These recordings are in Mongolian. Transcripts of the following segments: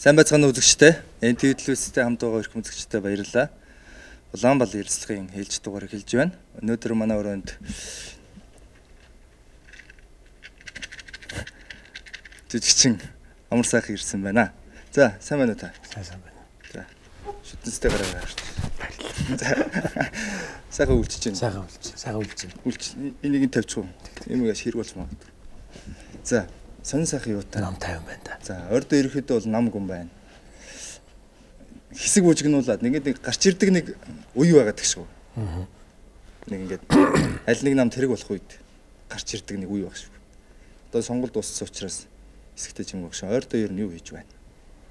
Сайн байцгаана үзэгчтэй. NTV телевизтэй хамт байгаа эрхэм үзэгчтэй баярлалаа. Улаанбал ярилцлагын хэлж дугаарыг хэлж байна. Өнөөдөр манай өрөөнд жижигчин амар сайхан ирсэн байна. За, сайн байна уу та? Сайн байна. За. Шүтэнстэй гараа гарч. Баярлалаа. Сайхан үлчиж байна. Сайхан үлчиж. Үлч энийг нь тавьчих уу? Эмээс хэрэг болж магадгүй. За. Сонин сайхан юу та? Нам 50 байна та. За, ордоо ирэхэд бол нам гүн байна. Хэсэг бүжгнуулаад нэг гарч ирдэг нэг үе байгаад гэх шүү. Аа. Нэг ингээд аль нэг нам тэрэг болох үед гарч ирдэг нэг үе баг шүү. Одоо сонгуул дууссан учраас хэсэгтэй юм багш. Ордоо ер нь юу хийж байна?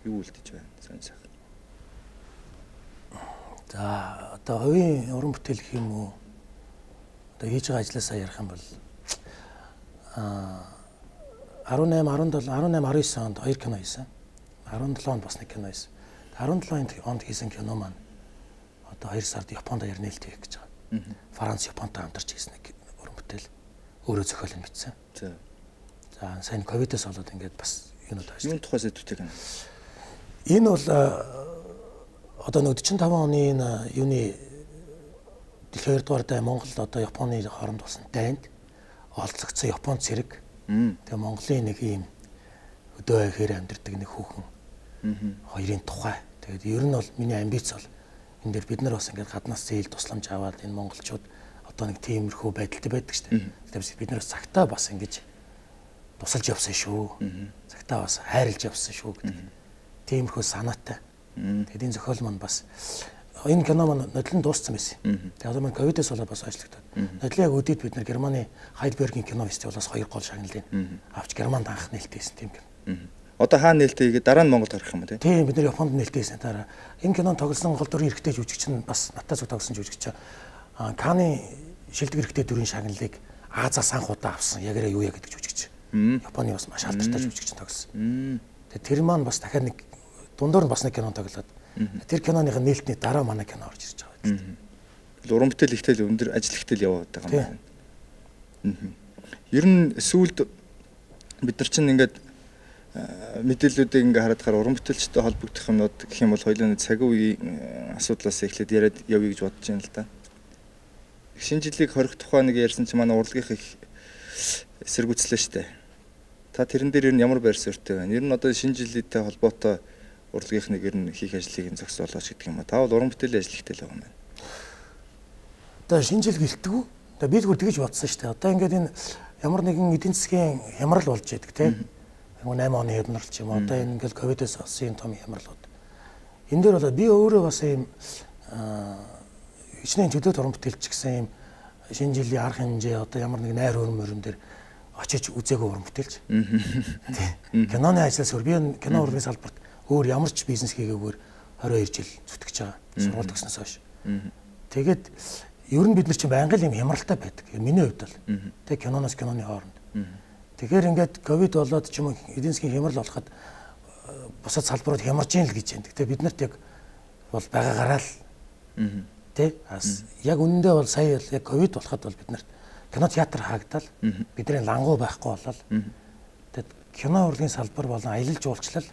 Юу үлдэж байна? Сонин сайхан. За, одоо хувийн уран бүтээл гэх юм уу? Одоо хийж байгаа ажлаасаа ярих юм бол 18, 19 онд 2 кино хийсэн. 17 онд бас нэг кино хийсэн. 17 онд хийсэн кино маань одоо 2 сард Японд аяр нээлт хийх гэж байгаа. Франц Японтой хамтарч хийсэн нэг уран бүтээл. Өөрөө зохиол нь бичсэн. За, сайн ковидос болоод ингээд бас юунууд байна. Юун тухай сэдвүүтэй кино? Энэ бол одоо 45 оны юуны 2 дугаар дайн Монголд одоо Японы хооронд болсон дайнд олцогдсон Японд цэрэг. Тэгээ Монголын нэг ийм өдөө ихээр амьдардаг нэг хүүхэн хоёрын тухай. Тэгээд ер нь бол миний амбиц бол энэ дээр бид нар бас ингээд гаднаас зээл тусламж аваад энэ монголчууд одоо нэг тиймэрхүү байдалтай байдаг шүү дээ. Тэгээд бид нар цагтаа бас ингэж тусалж явсан шүү. Цагтаа бас хайрлж явсан шүү гэдэг. Тиймэрхүү санаатай. Тэгээд энэ зохиол маань бас энэ кино маань нодлон дууссан байсан. Тэгээд одоо маань ковидос болоод бас ажиллагдаад. Нодлын яг үдид бид нар Германы Хайдбергийн кино фестивалаас 2 гол шагналыг авч Германд анх нээлттэйсэн тийм кино. Одоо хаана нээлттэй игээд дараа нь Монголд гарах юм уу тий? Тийм бид нар Японд нээлттэйсэн дараа. Энэ кинонд тоглосон гол дүрийн эрэгтэй жүжигч нь бас надтай зүг тоглосон жүжигч. Каны шилдэг эрэгтэй дүрийн шагналыг Азаас анх удаа авсан. Ягаараа юу яа гэдэг жүжигч. Японы бас маш алдартай жүжигч тоглосон. Тэгээд тэр маань бас дахиад нэг дундуур нь бас нэг кино тоглоод тэр киноны нээлтний дараа манай кино орж ирж байгаа. Уран бүтээл ихтэй өндөр ажил ихтэй яваад байгаа юм байна. Ер нь сүүлд бид нар чинь ингээд мэдээллүүдийг ингээ хараад уран бүтээлчтэй холбогдох юмнууд гэх юм бол хоёулаа цаг үеийн асуудлаас эхлээд яриад явъя гэж бодож байна л да. Шинэ жилийг хорих тухай нэг ярьсан чинь манай урлагийнх их эсэргүүцлээ штэ. Та тэрэн дээр ер нь ямар байр суурьтай байна? Ер нь одоо шинэ жилийнхтэй холбоотой урлагийнх нэг ер нь хийх ажлыг зохицуулаач гэдэг юм а. Та бол уран бүтээлийн ажил ихтэй л байгаа юм байна. Одоо шинэ жил гэлтгүү. Одоо би зүгээр тэгэж бодсон шүү дээ. Одоо ингээд энэ ямар нэгэн эдийн засгийн хямрал болж байдаг тийм. 8 оны хямрал ч юм уу. Одоо энэ ингээд ковидос болсон том хямралууд. Энэ дээр болоо би өөрөө бас ийм хичнээн төлөвлөлт уран бүтээлч гэсэн ийм шинэ жилийн арга хэмжээ одоо ямар нэг найр өрмөрөн дээр очиж үзээгүй уран бүтээлч. Киноны ажлаас өөр би кино урлагийн салбарт өөр ямар ч бизнес хийгээгээр 22 жил зүтгэж байгаа. Сургууль төгснөөс хойш. Тэгээд ер нь бид нар чинь байнгын юм хямралтай байдаг. Миний хувьд бол. Тэг киноноос киноны хооронд. Тэгэхээр ингээд ковид болоод ч юм уу эдийн засгийн хямрал болоход бусад салбарууд хямарж ийн л гэж байна. Тэгтээ бид нарт яг бол байгаагаараа л тий яг үнэндээ бол сая яг ковид болоход бол бид нарт кино театр хаагдал бидний лангуу байхгүй болол. Тэгэд кино урлагийн салбар болон аялал жуулчлал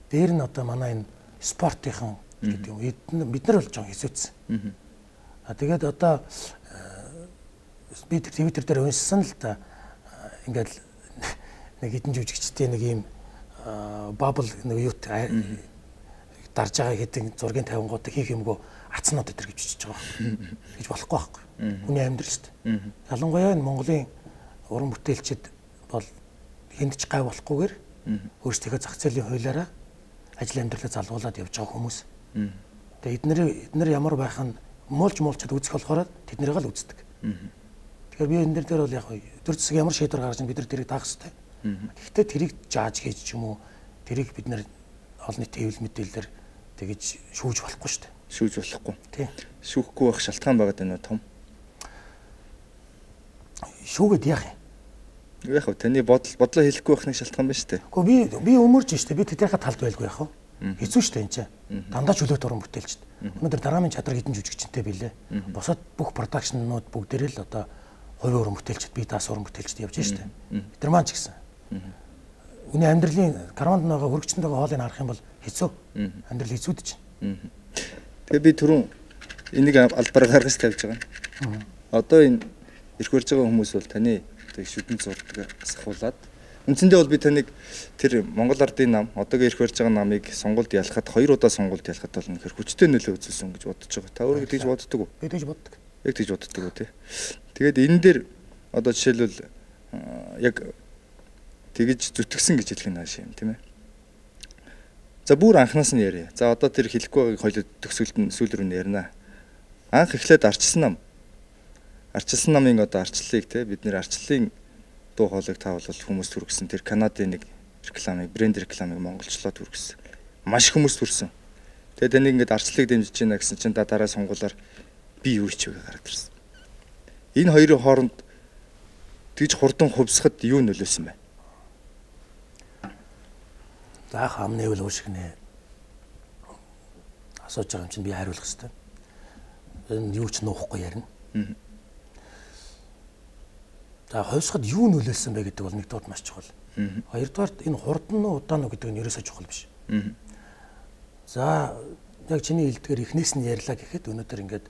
дээр нь одоо манай энэ спортынхан гэдэг юм бид нар болж байгаа хэсэгцсэн. Тэгээд одоо би Твиттер дээр уншсан л да ингээд нэг хэдэн жүжигчтэй нэг юм бабл нэг юу дарж байгаа хэдэн зургийн тавингуудыг хийх юмгүй ацнууд өдр гэж бичиж байгаа. Гэж болохгүй байхгүй. Хүний амьдрал шүү дээ. Ялангуяа энэ Монголын уран бүтээлчид бол хэнд ч гай болохгүйгээр өөрсдийнхөө зах зээлийн хуулиараа ажил амьдралаа залгуулад явж байгаа хүмүүс. Тэгээ эднэр ямар байх нь муулчад үзэх болохоор тэднэрийг л үздэг. Тэгэхээр би энэ дээр бол яг төр засаг ямар шийдвэр гаргаж бид нар тэрийг даах хэрэгтэй. Гэхдээ тэрийг жааж хийж ч юм уу тэрийг бид нар олон нийтийн хэвлэл мэдээлэлээр тэгэж шүүж болохгүй шүү дээ. Шүүж болохгүй. Тийм. Шүүхгүй байх шалтгаан байгаад байна уу том? Шүүгээд яах юм? Яг таны бодлоо хэлэхгүй байх нэг шалтгаан байна шүү дээ. Гэхдээ би өмөрж шүү дээ. Би тэднийхээ талд байлгүй яах вэ? Хэцүү шүү дээ энэ чинь. Дандаа чөлөөт уран бүтээлчд. Өнөөдөр драмын чадвар хэдэн жүжигчтэй билээ. Босоод бүх продакшннууд бүгдээрээ л одоо хувийн уран бүтээлчд бие даасан уран бүтээлчд явж шүү дээ. Бид нар маань ч гэсэн. Үний амьдралын карванд байгаа хөргөчөнд байгаа хоолыг харах юм бол Хэцүү. Амьдрал хэцүүд чинь. Тэгээ би түрүүн энийг албаар гаргаж тавьж байгаа. Одоо энэ ирэх барьж байгаа хүмүүс бол таны шүдэн зурдаг асахуулаад үндсэндээ бол би таныг тэр Монгол Ардын нам одоогийн ирэх барьж байгаа намыг сонгуульд ялахад 2 удаа сонгуульд ялахад бол үнэхээр хүчтэй нөлөө үзүүлсэн гэж бодож байгаа. Та өөрөө тэгж боддог уу? Би тэгж боддог. Яг тэгж боддог уу тий. Тэгээд энэ дээр одоо жишээлбэл яг тэгж зүтгэсэн гэж хэлэх нь хаашаа юм тийм ээ. За бүр анханаас нь яриа. За одоо тэр хэлэхгүй байгааг хоёул төгсгөлд нь сүүл рүү ярина. Анх эхлээд арчилсан нам. Арчилсан намын одоо арчлалыг те бид нэр арчлалын дуу хоолойг таавал хүмүүс түргсэн. Тэр Канадын нэг рекламыг, брэнд рекламыг монголчлоод түргсэн. Маш хүмүүс түрсэн. Тэгээд таны ингээд арчлалыг дэмжиж байна гэсэн чинь дараа сонгуулаар би юу ч вэ гараад ирсэн. Энэ хоёрын хооронд тэгж хурдан хувьсахад юу нөлөөсөн бэ? Заах амны үл уушиг нэ асууж байгаа юм чинь би хариулах хэрэгтэй. Энэ юу ч нуухгүй ярина. За хувьсахад юу нөлөөлсөн бэ гэдэг бол нэгдүгээр маш чухал. Хоёрдугаар энэ хурдан уу удаан уу гэдэг нь ерөөсөө чухал биш. За яг чиний хэлдгээр эхнээс нь ярьлаа гэхэд өнөөдөр ингээд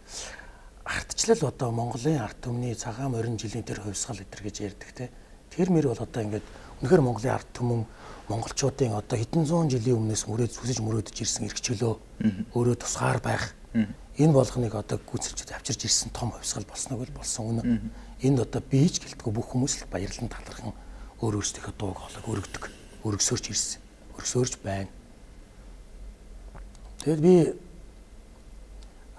ардчлал одоо Монголын ард түмний цагаан морин жилийн тэр хувьсгал өдр гэж ярьдаг те. Тэр мөр бол одоо ингээд үнэхээр Монголын ард түмэн монголчуудын одоо хэдэн зуун жилийн өмнөөс хүсэж мөрөөдөж ирсэн эрхчлөө өөрөө тусгаар байх энэ болгоныг одоо гүйцэлжүүд авчирж ирсэн том хувьсгал болсног бол болсон үнэ. Энд одоо бийж гэлтгүй бүх хүмүүс л баярлан талархан өөрөөсдийнхөө дууг хоолойг өргөдөг. Өргөсөөрч ирсэн. Өргөсөөрч байна. Тэгэд би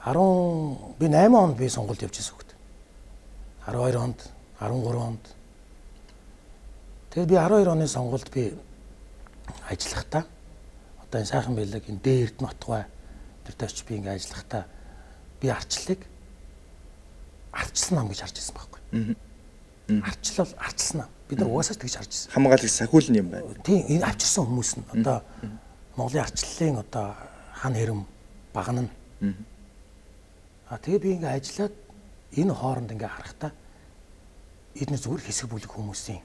8 онд би сонгуульд явж ирсэн хөхт. 12 онд, 13 онд. Тэгээд би 12 оны сонгуульд би ажиллахдаа одоо энэ сайхан байлаг энэ дээрд нотгой тэр тавьч би ингээ ажиллахдаа би арчлалыг арчилсан нам гэж харж ирсэн байхгүй. Арчлал арчилсан нам. Бид нар угаасаа тэгж харж ирсэн. Хамгааллыг сахиулна юм байна. Тийм энэ авчирсан хүмүүс нь одоо Монголын арчлалын одоо хан хэрэм багна. Тэгээ би ингээ ажиллаад энэ хооронд ингээ харахтаа эдгээр зүгээр хэсэг бүлэг хүмүүсийн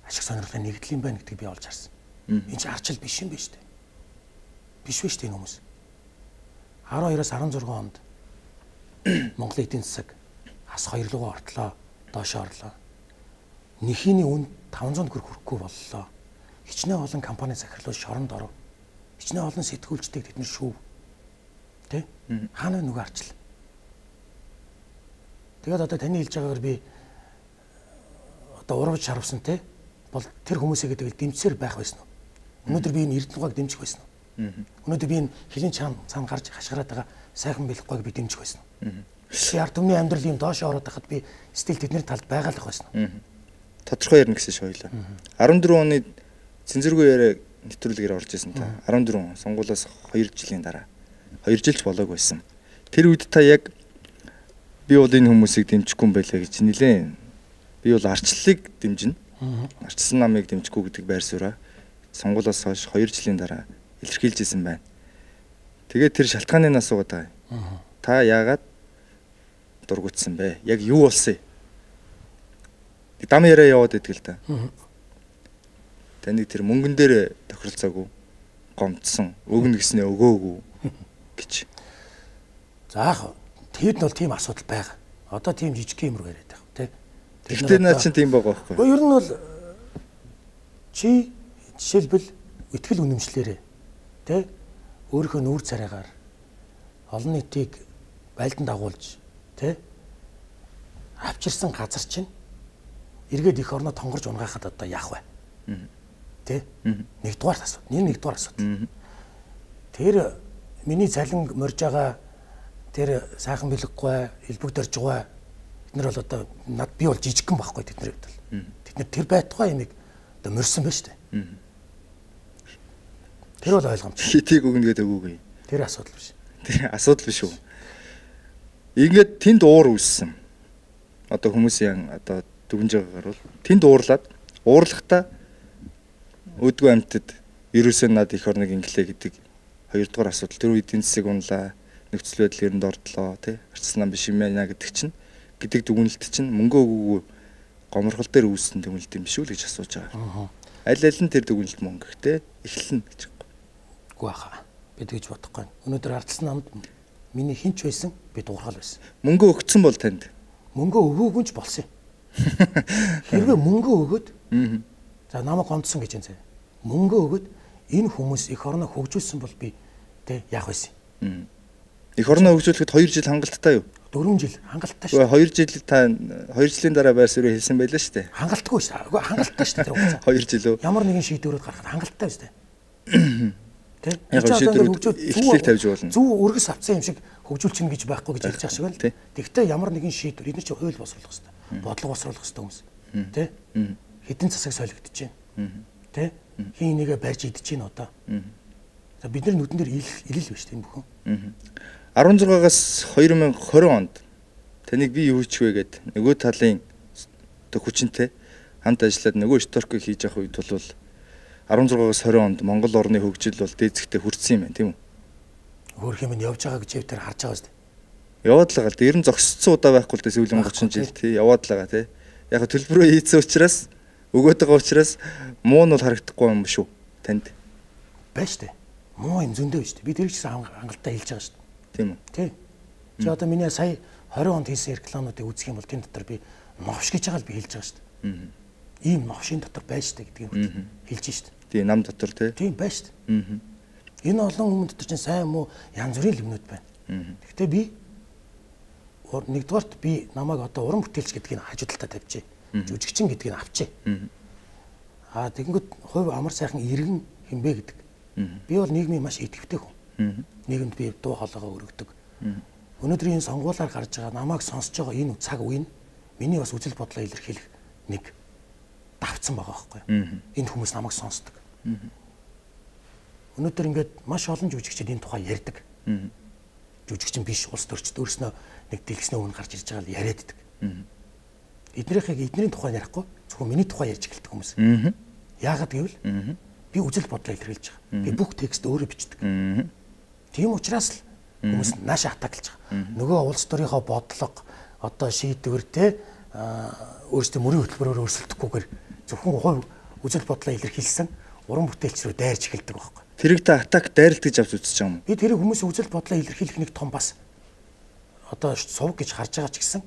ашиг сонирхлын нэгдэл юм байна гэдгийг би олж харсан. Энэ чинь арчил биш юм байна шүү дээ. Биш вэ шүү дээ энэ хүмүүс. 12-аас 16 онд Монголын эдийн засаг ас 2 руугаа ортлоо, доош орлоо. Нэхийний үн 500 төгрөг хүрэхгүй боллоо. Хичнээн олон компани захирлууд шоронд оров. Хичнээн олон сэтгүүлчдийг тэд нар шүүв. Тэ? Хаана нүг арчил. Тэгээд одоо таны хэлж байгаагаар би одоо урвж шарвсан те бол тэр хүмүүсийг гэдэг дэмжсээр байх байсан уу? Өнөөдөр би энэ Эрдэнэгүйг дэмжих байсан уу? Өнөөдөр би энэ хилийн цаана гарч хашгираад байгаа сайхан бэлэхгүйг би дэмжих байсан уу? Би ард түмний амьдрал юм доош ороод байхад би стил тэдний талд байгалах байсан уу? Тодорхой ярина гэсэн шиг хоёлаа. 14 оны цэнзэргүй яриа нэвтрүүлгээр орж исэн та. 14 сонгуулиас 2 жилийн дараа. 2 жилч болоог байсан. Тэр үед та яг би бол энэ хүмүүсийг дэмжихгүй юм байлаа гэж нилээн. Би бол арчлалыг дэмжинэ. Арчилсан намыг дэмжихгүй гэдэг байр сууриа сонгуулиас хойш 2 жилийн дараа илэрхийлж исэн байна. Тэгээд тэр шалтгааныг асуугаад байгаа. Та яагаад дургуутсан бэ? Яг юу болсон юм? Дам яриа яваад идэл та. Таныг тэр мөнгөн дээр тохиролцоогүй гомдсон, өгнө гэснээ өгөөгүй гэж. Заах тэд нь бол тийм асуудал байгаа. Одоо тийм жижиг юм руу яриад байгаа тий. Тэгтээ наа чинь тийм байгаа байхгүй. Гэхдээ ер нь бол чи жишээлбэл ихтгэл үнэмшлээрээ тий өөрийнхөө нүүр царайгаар олон нийтийг байлдан дагуулж тий авчирсан газар чинь эргээд их орноо тонгорж унгахад одоо яах вэ? Тэ? Нэгдүгээр асуудал. Нэгдүгээр асуудал. Тэр миний цалин морж байгаа тэр сайхан бэлэггүй, элбэг дөрж байгаа бид нар бол одоо над би бол жижигхэн байхгүй тэдний хувьд бол. Тэд нар тэр байтугай юмыг одоо морьсон байна шүү дээ. Тэр бол ойлгомжтой. Хитийг өгнө гэдэг үгүй. Тэр асуудал биш. Тэр асуудал биш үү? Ингээд тэнд уур үүссэн. Одоо хүмүүсийн одоо дүгнж байгаагаар бол тэнд уурлаад уурлахтаа өдгөө амьтад ерөөсөө над их орныг инглээ гэдэг хоёрдугаар асуудал. Тэр үед эдийн засаг унлаа, нөхцөл байдал эрэнд ордлоо, тий арчилсан биш юм яа гэдэг чинь гэдэг дүгнэлт чинь мөнгө өгөөгүй гоморхол дээр үүссэн дүгнэлт юм биш үү гэж асууж байгаа. Аль аль нь тэр дүгнэлт мөн гэхдээ эхлэн гэж. Үгүй хаа. Би тэгж бодохгүй. Өнөөдөр ардсан намд миний хинч байсан би дуурхал байсан. Мөнгө өгцөн бол танд. Мөнгө өгөөгүй ч болсон юм. Хэрвээ мөнгө өгөөд за намайг гомдсон гэж энэ. Мөнгө өгөөд энэ хүмүүс их орноо хөгжүүлсэн бол би тэ яах байсан. Их орноо хөгжүүлэхэд 2 жил хангалттай юу? 4 жил хангалттай шүү. 2 жил та 2 жилийн дараа байр суурь хэлсэн байлаа шүү дээ. Хангалтгүй шүү. Үгүй хангалттай шүү тэр хугацаа. 2 жил үү? Ямар нэгэн шийдвэрүүд гаргахад хангалттай шүү дээ. Тэ? Яг шийдвэрүүд ихлийг тавьж болно. Зөв өргөс авцсан юм шиг хөгжүүлчихнэ гэж байхгүй гэж хэлж байгаа шиг байна. Тэгвэл ямар нэгэн шийдвэр эдгээр чинь хууль босруулах хэрэгтэй. Бодлого босруулах хэрэгтэй хүмүүс. Тэ? Хэдэн засаг солигдож байна. Тэ? Хин нэгэ барьж идэж байна одоо. За бид нар нүдэн дээр илэл биш тийм бүхэн. 16-аас 2020 онд таныг би юу хийч вэ гэд нөгөө талын хүчинтэй хамт ажиллаад нөгөө шторк хийж явах үед бол 16-аас 20 онд Монгол орны хөгжил бол дээцэгтэй хүрсэн юм байна тийм үү? Өөр юм явж байгаа гэж өвтөр харж байгаа шүү дээ. Яваад л байгаа. Ер нь зогсцсон удаа байхгүй л дээ сүүлийн 30 жил тий яваад л байгаа тий. Яг төлбөрөө хийцэн учраас өгөөд байгаа учраас муу нь бол харагдахгүй юм шүү танд. Байна шүү дээ. Муу юм зөндөө шүү дээ. Би тэр чигсэн хангалттай хэлж байгаа шүү дээ. Тийм үү? Тий. Чи одоо миний сая 20 онд хийсэн рекламуудыг үзэх юм бол тэн дотор би новш гэж байгаа л би хэлж байгаа шүү дээ. Ийм новшийн дотор байж шүү дээ гэдгийг хэлж шүү дээ. Тийм нам дотор тий. Тийм байж шүү дээ. Энэ олон хүмүүс дотор чинь сайн муу янз бүрийн юмнууд байна. Гэхдээ би нэгдүгээрт би намайг одоо уран бүтээлч гэдгийг хажуудалтаа тавьчих. Жүжигчин гэдгийг авчи. Тэгэнгүүт хувь амар сайхан иргэн хинбэ гэдэг. Би бол нийгмийн маш идэвхтэй хүн. Нийгэмд би дуу хоолойгоо өргөдөг. Өнөөдөр энэ сонгуулиар гарч байгаа намайг сонсож байгаа энэ цаг үе нь миний бас үзэл бодлоо илэрхийлэх нэг давцсан байгаа байхгүй юу? Энэ хүмүүс намайг сонсдог. Өнөөдөр ингээд маш олон жүжигчид энэ тухай ярьдаг. Жүжигчин биш улс төрчд өөрснөө нэг дэлгэсний өмнө гарч ирж байгаа л яриад идэг. Эднэрийн тухай ярихгүй зөвхөн миний тухай ярьж эхэлдэг хүмүүс. Яагаад гэвэл би үзэл бодлоо илэрхийлж байгаа. Би бүх текст өөрөө бичдэг. Тийм учраас л хүмүүс наашаа хатаглаж байгаа. Нөгөө улс төрийнхөө бодлого одоо шийдвэр те өөрсдөө мөрийн хөтөлбөрөөр өрсөлдөхгүйгээр зөвхөн хувь үзэл бодлоо илэрхийлсэн уран бүтээлч рүү дайрч эхэлдэг байхгүй. Тэрийг та атак дайралт гэж авч үзэж байгаа юм. Би тэрийг хүмүүсийн үзэл бодлоо илэрхийлэх нэг том бас одоо сувг гэж харж байгаа ч гэсэн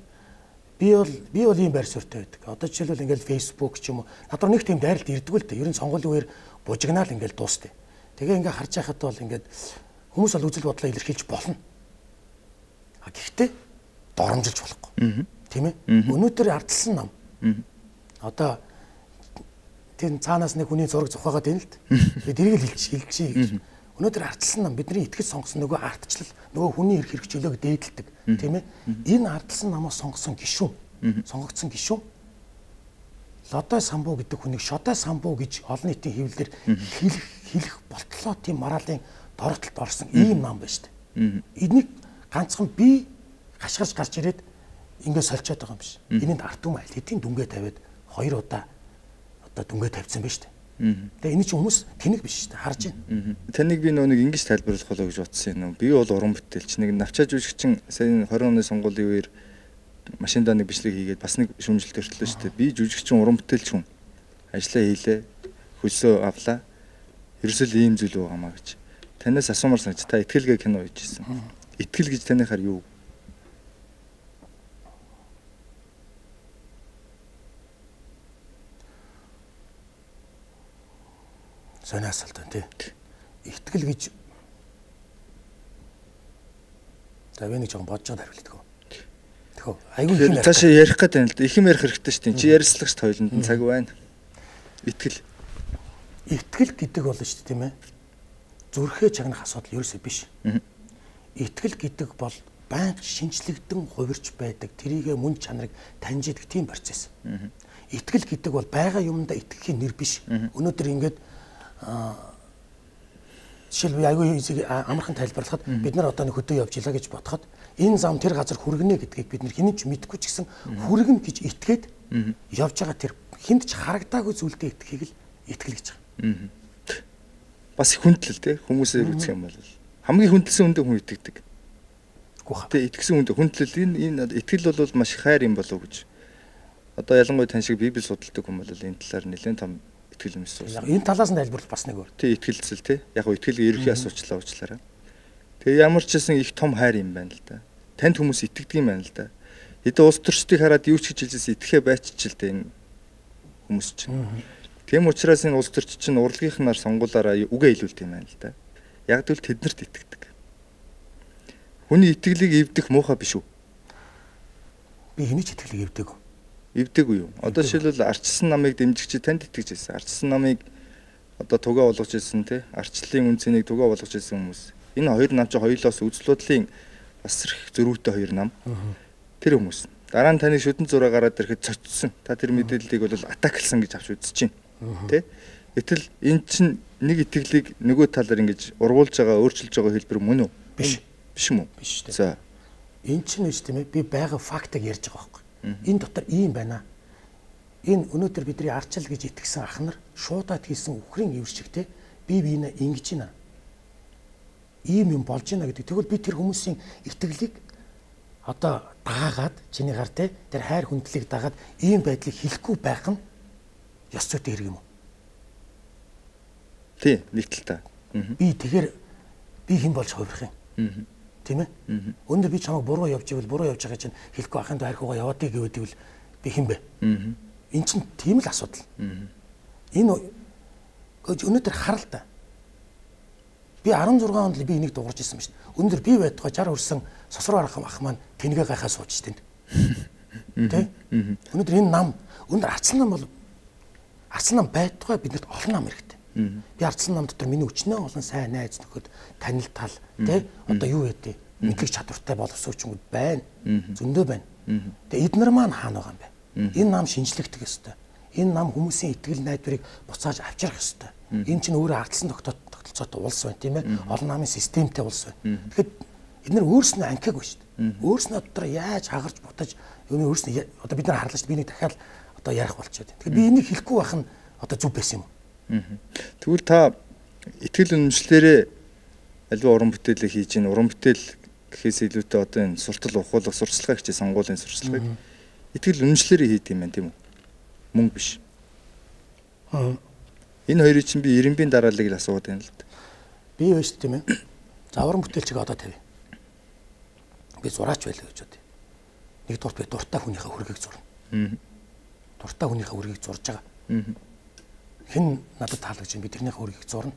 би бол ийм байр суурьтай байдаг. Одоо жишээлбэл ингээл Facebook ч юм уу надад нэг тийм дайралт ирдэг л дээ. Ер нь сонгуулийн үеэр бужигнаал ингээл дуустай. Тэгээ ингээ харж байхад бол ингээд хүмүүс бол үзэл бодлоо илэрхийлж болно. Гэхдээ доромжилж болохгүй. Тийм ээ? Өнөөдөр ардсан нам. Одоо тэр цаанаас нэг хүний зураг зохиогоод байна л д. Би тэрийг л хэлчихье гэж. Өнөөдөр ардсан нам бидний итгэж сонгосон нөгөө ардчлал, нөгөө хүний эрх хэрэгжүүлээг дээдэлдэг, тийм ээ? Энэ ардсан намаас сонгосон гишүүн, сонгогдсон гишүүн Лодой самбуу гэдэг хүнийг шодой самбуу гэж олон нийтийн хэвлэлээр хэлэх болтлоо тийм моралын доротолд орсон ийм нам байна шүү дээ. Энийг ганцхан би хашгирч гарч ирээд ингээд сольчоод байгаа юм биш. Энэнд ард түмэн аль хэдийн дүнгээ тавиад 2 удаа одоо дүнгээ тавьсан байна шүү дээ. Тэгээ энэ чинь хүмүүс тэнэг биш шүү дээ. Харж байна. Таныг би нэг ингэж тайлбарлах болоо гэж бодсон юм. Би бол уран бүтээлч. Нэг навчаа жүжигчин сая 20 оны сонгуулийн үеэр машиндаа нэг бичлэг хийгээд бас нэг шүүмжлэлт өртлөө шүү дээ. Би жүжигчин уран бүтээлч хүн. Ажлаа хийлээ. Хөлсөө авлаа. Ерөөсөө ийм зүйл байгаамаа гэж. Танаас асуумаар санаж та итгэлгээ кино хийжсэн. Итгэл гэж танихаар юу? Сони асуулт байна тий. Итгэл гэж за би нэг жоохон бодож байгаа хариултдаг. Тэгэхөө айгүй их юм ярих. Цаашаа ярих гэдэг юм л да. Их юм ярих хэрэгтэй шүү дээ. Чи ярьцлагч тойлонд нь цаг байна. Итгэл гэдэг бол шүү дээ тийм ээ. Зүрхээ чагнах асуудал ерөөсөө биш. Итгэл гэдэг бол байнга шинжлэгдэн хувирч байдаг. Тэрийгэ мөн чанарыг таньж идэг тийм процесс. Итгэл гэдэг бол байгаа юмдаа итгэхийн нэр биш. Өнөөдөр ингээд жишээлбэл айгүй амархан тайлбарлахад бид нар одоо нэг хөдөө явж илаа гэж бодоход энэ зам тэр газар хүргэнэ гэдгийг бид нар хинэж мэдгүй ч гэсэн хүргэн гэж итгээд явж байгаа тэр хинд ч харагдаагүй зүйлдээ итгэхийг л итгэл гэж байгаа. Бас хүндлэл те хүмүүсээр үзэх юм бол хамгийн хүндэлсэн үндэ хүн итгэдэг. Тэ итгэсэн үндэ хүндлэл энэ итгэл бол маш хайр юм болов уу гэж. Одоо ялангуяа тань шиг Библи судалдаг хүн бол энэ талаар нэлээд том итгэл юмс уусан. Яг энэ талаас нь тайлбарлах бас нэг өөр. Тий, итгэлцэл тий. Яг итгэлийг ерөнхий асуучлаа уучлаарай. Тэгээ ямар ч гэсэн их том хайр юм байна л да. Танд хүмүүс итгэдэг юм байна л да. Хэдэн улс төрчдийг хараад юу ч гэж хэлжсэн итгэхэ байчих л да энэ хүмүүс чинь. Тийм учраас энэ улс төрч чинь урлагийнхнаар сонгуулаараа үгээ илүүлдэг юм байна л да. Яг тэгвэл тэднэрт итгэдэг. Хүний итгэлийг эвдэх муухай биш үү? Би хэний ч итгэлийг эвдэг. Эвдэггүй юу? Одоо жишээлбэл арчсан намыг дэмжигч танд итгэж байсан. Арчсан намыг одоо тугаа болгож ирсэн тий. Арчлалын үнцнийг тугаа болгож ирсэн хүмүүс. Энэ хоёр нам чи хоёулоос үзэл бодлын бас зөрүүтэй хоёр нам. Тэр хүмүүс. Дараа нь таны шүдэн зураг гараад ирэхэд цочсон. Та тэр мэдээллийг бол атаклсан гэж авч үзэж байна. Тэ? Гэтэл эн чинь нэг итгэлийг нөгөө талаар ингэж ургуулж байгаа, өөрчилж байгаа хэлбэр мөн үү? Биш. Биш юм уу? Биш үү. За. Эн чинь үст тийм ээ. Би байгаа фактыг ярьж байгаа байхгүй. Энэ дотор ийм байна. Энэ өнөөдөр бидний арчил гэж итгэсэн ах нар шуудаад хийсэн үхрийн ивэр чигтэй бие биенээ ингэж байна. Ийм юм болж байна гэдэг. Тэгвэл би тэр хүмүүсийн итгэлийг одоо даагаад чиний гар те тэр хайр хүндлийг дагаад ийм байдлыг хэлэхгүй байх нь ёс зүйтэй хэрэг юм уу? Тий, нэг тал та. Би тэгэхээр би хэн болж хувирах юм? Тийм ээ? Өнөөдөр би чамайг буруу явж ивэл буруу явж байгаа чинь хэлэхгүй ахын доо архиугаа яваадыг гэвэл би хэн бэ? Эн чинь тийм л асуудал. Энэ өнөөдөр харал та. Би 16 онд л би энийг дуурж ирсэн ба шүү дээ. Өнөөдөр би байтугай 60 хүрсэн сосроо ах маань тэнгээ гайхаа сууж штэ. Тэ? Өнөөдөр энэ нам өнөөдөр арцсан нам бол арцсан нам байтугай биднэрт олон нам хэрэгтэй. Би арцсан нам дотор миний өчнөө олон сайн найз нөхөд танил тал тэ одоо юу ядээ мэдлэг чадвартай боловсруучуд байна. Зөндөө байна. Тэгээ эднэр маань хаана байгаа юм бэ? Энэ нам шинжлэхдэх ёстой. Энэ нам хүмүүсийн итгэл найдварыг буцааж авчрах ёстой. Энэ чинь өөрөө ардсан тогтолцоотой улс байна тийм ээ. Олон намын системтэй улс байна. Тэгэхэд эдгээр өөрснөө анхаагүй шүү дээ. Өөрснөө дотор яаж хагарч бутаж юуны өөрснөө одоо бид нар харлаа шүү дээ. Би нэг дахиад одоо ярих болчиход. Тэгэхээр би энийг хэлэхгүй байх нь одоо зүв байсан юм уу? Тэгвэл та итгэл үнэмшлэрээ альва уран бүтээлээ хийж ийн уран бүтээл гэхээс илүүтэй одоо энэ суртал ухуулах сурчлагаа хичээ сонгуулийн сурчлагыг итгэл үнэмшлэрээ хийд юм байна тийм үү? Мөнгө биш. Энэ хоёрыг чинь би Ирэмбийн дарааллыг л асууад байна л да. Би байж тийм ээ. За уран бүтээлчийг одоо тавь. Би зураач байлаа гэж бодъё. Нэгдүгээр би дуртай хүнийхээ хүргийг зурна. Дуртай хүнийхээ хүргийг зурж байгаа. Хэн надад таалагдж байна би тэрнийхээ хүргийг зурна.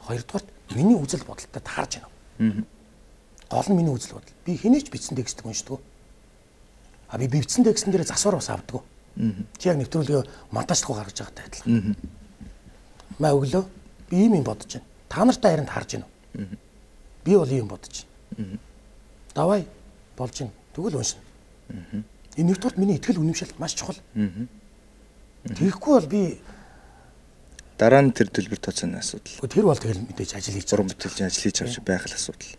Хоёрдугаар миний үзэл бодолтой таарж байна. Гол нь миний үзэл бодол. Би хэнийч бичсэн текстийг уншдаг. А би бичсэн текстэн дээр засвар бас авдаг. Чи яг нэвтрүүлгээ монтажлахгүй гаргаж байгаатай адилхан. Маа өглөө би ийм юм бодож байна. Та нартай харин харж байна уу? Би бол ийм бодож байна. Давай болж байна. Тэгвэл уншина. Энэ нэгдүгээр миний итгэл үнэмшил маш чухал. Тэгэхгүй бол би дараа нь тэр төлбөр тооцооны асуудал. Тэр бол тэгэл мэдээж ажил хийж уран бүтээлчийн ажил хийж авч байх л асуудал.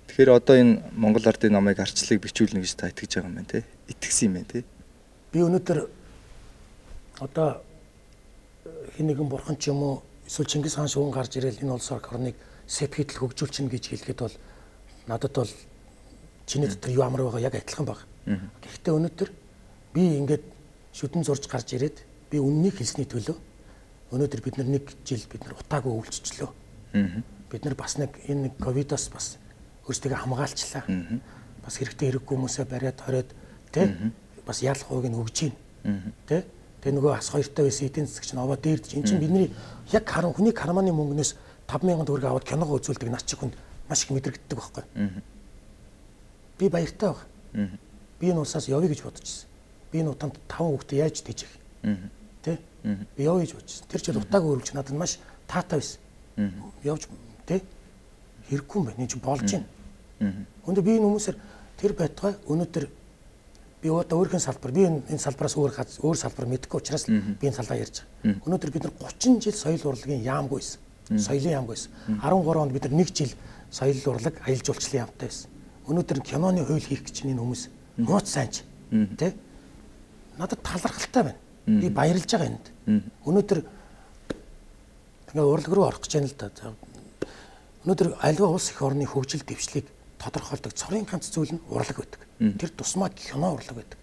Тэгэхээр одоо энэ Монгол ардын намыг арчлалыг бичүүлнэ гэж та итгэж байгаа юм байна те. Итгэсэн юм байна те. Би өнөөдөр одоо хин нэгэн бурхан ч юм уу эсвэл Чингис хаан шүүн гарч ирэл энэ улс орныг сэпхийтэл хөгжүүлчихнэ гэж хэлэхэд бол надад бол чиний дотор юу амар байгаа яг адилхан баг. Гэхдээ өнөөдөр би ингээд шүдэн зурж гарч ирээд би үннийг хэлсний төлөө өнөөдөр бид нар нэг жил бид нар утаагүй өвлцчлөө. Бид нар бас нэг энэ ковидоос бас өөрсдөө хамгаалчлаа. Бас хэрэгтэй хэрэггүй хүмүүсээ бариад хороод тий бас ял хууг нь өгж гин. Тий тэгээ нөгөө ас хоёртой байсан эдийн засаг чинь овоо дээрдэж эн чинь бидний яг хүний карманы мөнгнөөс 5,000 төгрөг аваад киногоо үзүүлдэг над чих хүнд маш их мэдрэгддэг байхгүй. Би баяртай баг. Би энэ улсаас явъя гэж бодож ирсэн. Би энэ утаанд 5 хүүхдээ яаж тийжих. Тэ? Би явъя гэж бодож ирсэн. Тэр жил утаагүй өрөвч надад маш таатай байсан. Явж тэ? Хэрэггүй юм байна. Энэ чинь болж байна. Өнөөдөр би энэ хүмүүсээр тэр байтугай өнөөдөр би одоо өөрхөн салбар би энэ салбараас өөр салбар мэдэхгүй учраас би энэ салбараа ярьж байгаа. Өнөөдөр бид нар 30 жил соёл урлагийн яамгүй байсан. Соёлын яамгүй байсан. 13 онд бид нар 1 жил соёл урлаг аялал жуулчлалын яамтай байсан. Өнөөдөр киноны хууль хийх гэж энэ хүмүүс нууц сайнч тий надад талархалтай байна. Би баярлж байгаа энд. Өнөөдөр ингээ урлаг руу орох гэж байна л да. Өнөөдөр аливаа улс их орны хөгжил дэвшлиг тодорхойлдог цорын ганц зүйл нь урлаг байдаг. Тэр тусмаа кино урлаг байдаг.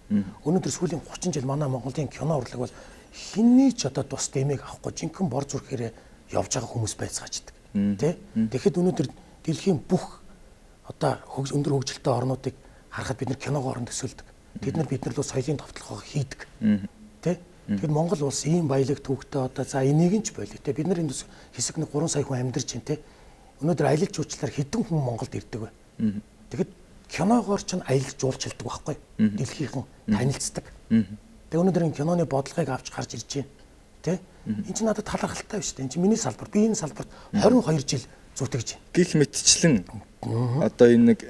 Өнөөдөр сүүлийн 30 жил манай Монголын кино урлаг бол хинний ч одоо тус дэмэг авахгүй жинхэнэ бор зүрхээрээ явж байгаа хүмүүс байцгааждаг. Тэ? Тэгэхэд өнөөдөр дэлхийн бүх одоо өндөр хөгжилтэй орнуудыг харахад бид нар киногоор нь төсөөлдөг. Бид нар лөө соёлын товтлогоо хийдэг. Тэ? Тэгэхээр Монгол улс ийм баялаг төвхтэй одоо за энийг нь ч болоо тэ бид нар энэ хэсэг нэг 3 сая хүн амьдарч байна тэ. Өнөөдөр аялал жуулчлалаар хэдэн хүн Монголд ирдэг вэ? Тэгэхэд киногоор ч аялал жуулчилдаг байхгүй. Дэлхийнхэн танилцдаг. Тэгээ өнөөдөр энэ киноны бодлогыг авч гарч ирж байна. Тэ? Энэ чинь надад талархалтай биш үү? Энэ чинь миний салбар. Би энэ салбарт 22 жил зүтгэж байна. Гэх мэтчлэн одоо энэ нэг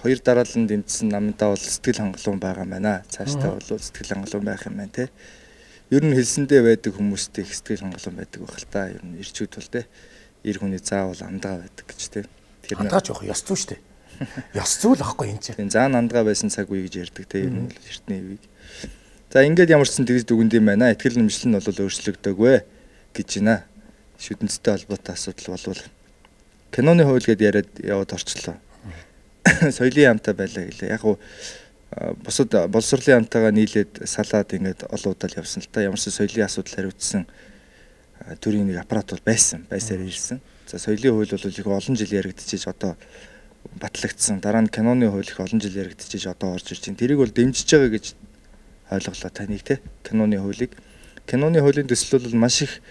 хоёр дараалан дэмжсэн намдаа бол сэтгэл хангалуун байгаа маа. Цаашдаа бол сэтгэл хангалуун байх юм байна те. Ер нь хэлсэндээ байдаг хүмүүстэй их сэтгэл хангалуун байдаг байх л та. Ер нь ирчүүд бол те. Ир хүний заавал амдгаа байдаг гэж те. Тэр амдгаа жоох ёс зүй шүү дээ. Ёс зүй л ахгүй энэ чинь. Заан амдгаа байсан цаг үе гэж ярьдаг те. Ер нь бол эртний үеиг. За ингээд ямар ч сан тэгж дүгэнд юм байна. Итгэл нэмшлэл нь бол өөрчлөгдөөгүй гэж байна. Шүтэнцтэй холбоотой асуудал болвол киноны хууль гэдээ яриад яваад орчлоо. Соёлын хамтаа байлаа гэлээ. Яг уу бусад боловсролын хамтаагаа нийлээд салаад ингээд олон удаа явсан л та. Ямар ч соёлын асуудал хариуцсан төрийн нэг аппарат бол байсаар ирсэн. За соёлын хууль бол их олон жил яригдчихэж одоо батлагдсан. Дараа нь киноны хууль их олон жил яригдчихэж одоо орж ирж байна. Тэрийг бол дэмжиж байгаа гэж ойлголоо таныг те. Киноны хуулийг. Киноны хуулийн төсөл бол маш их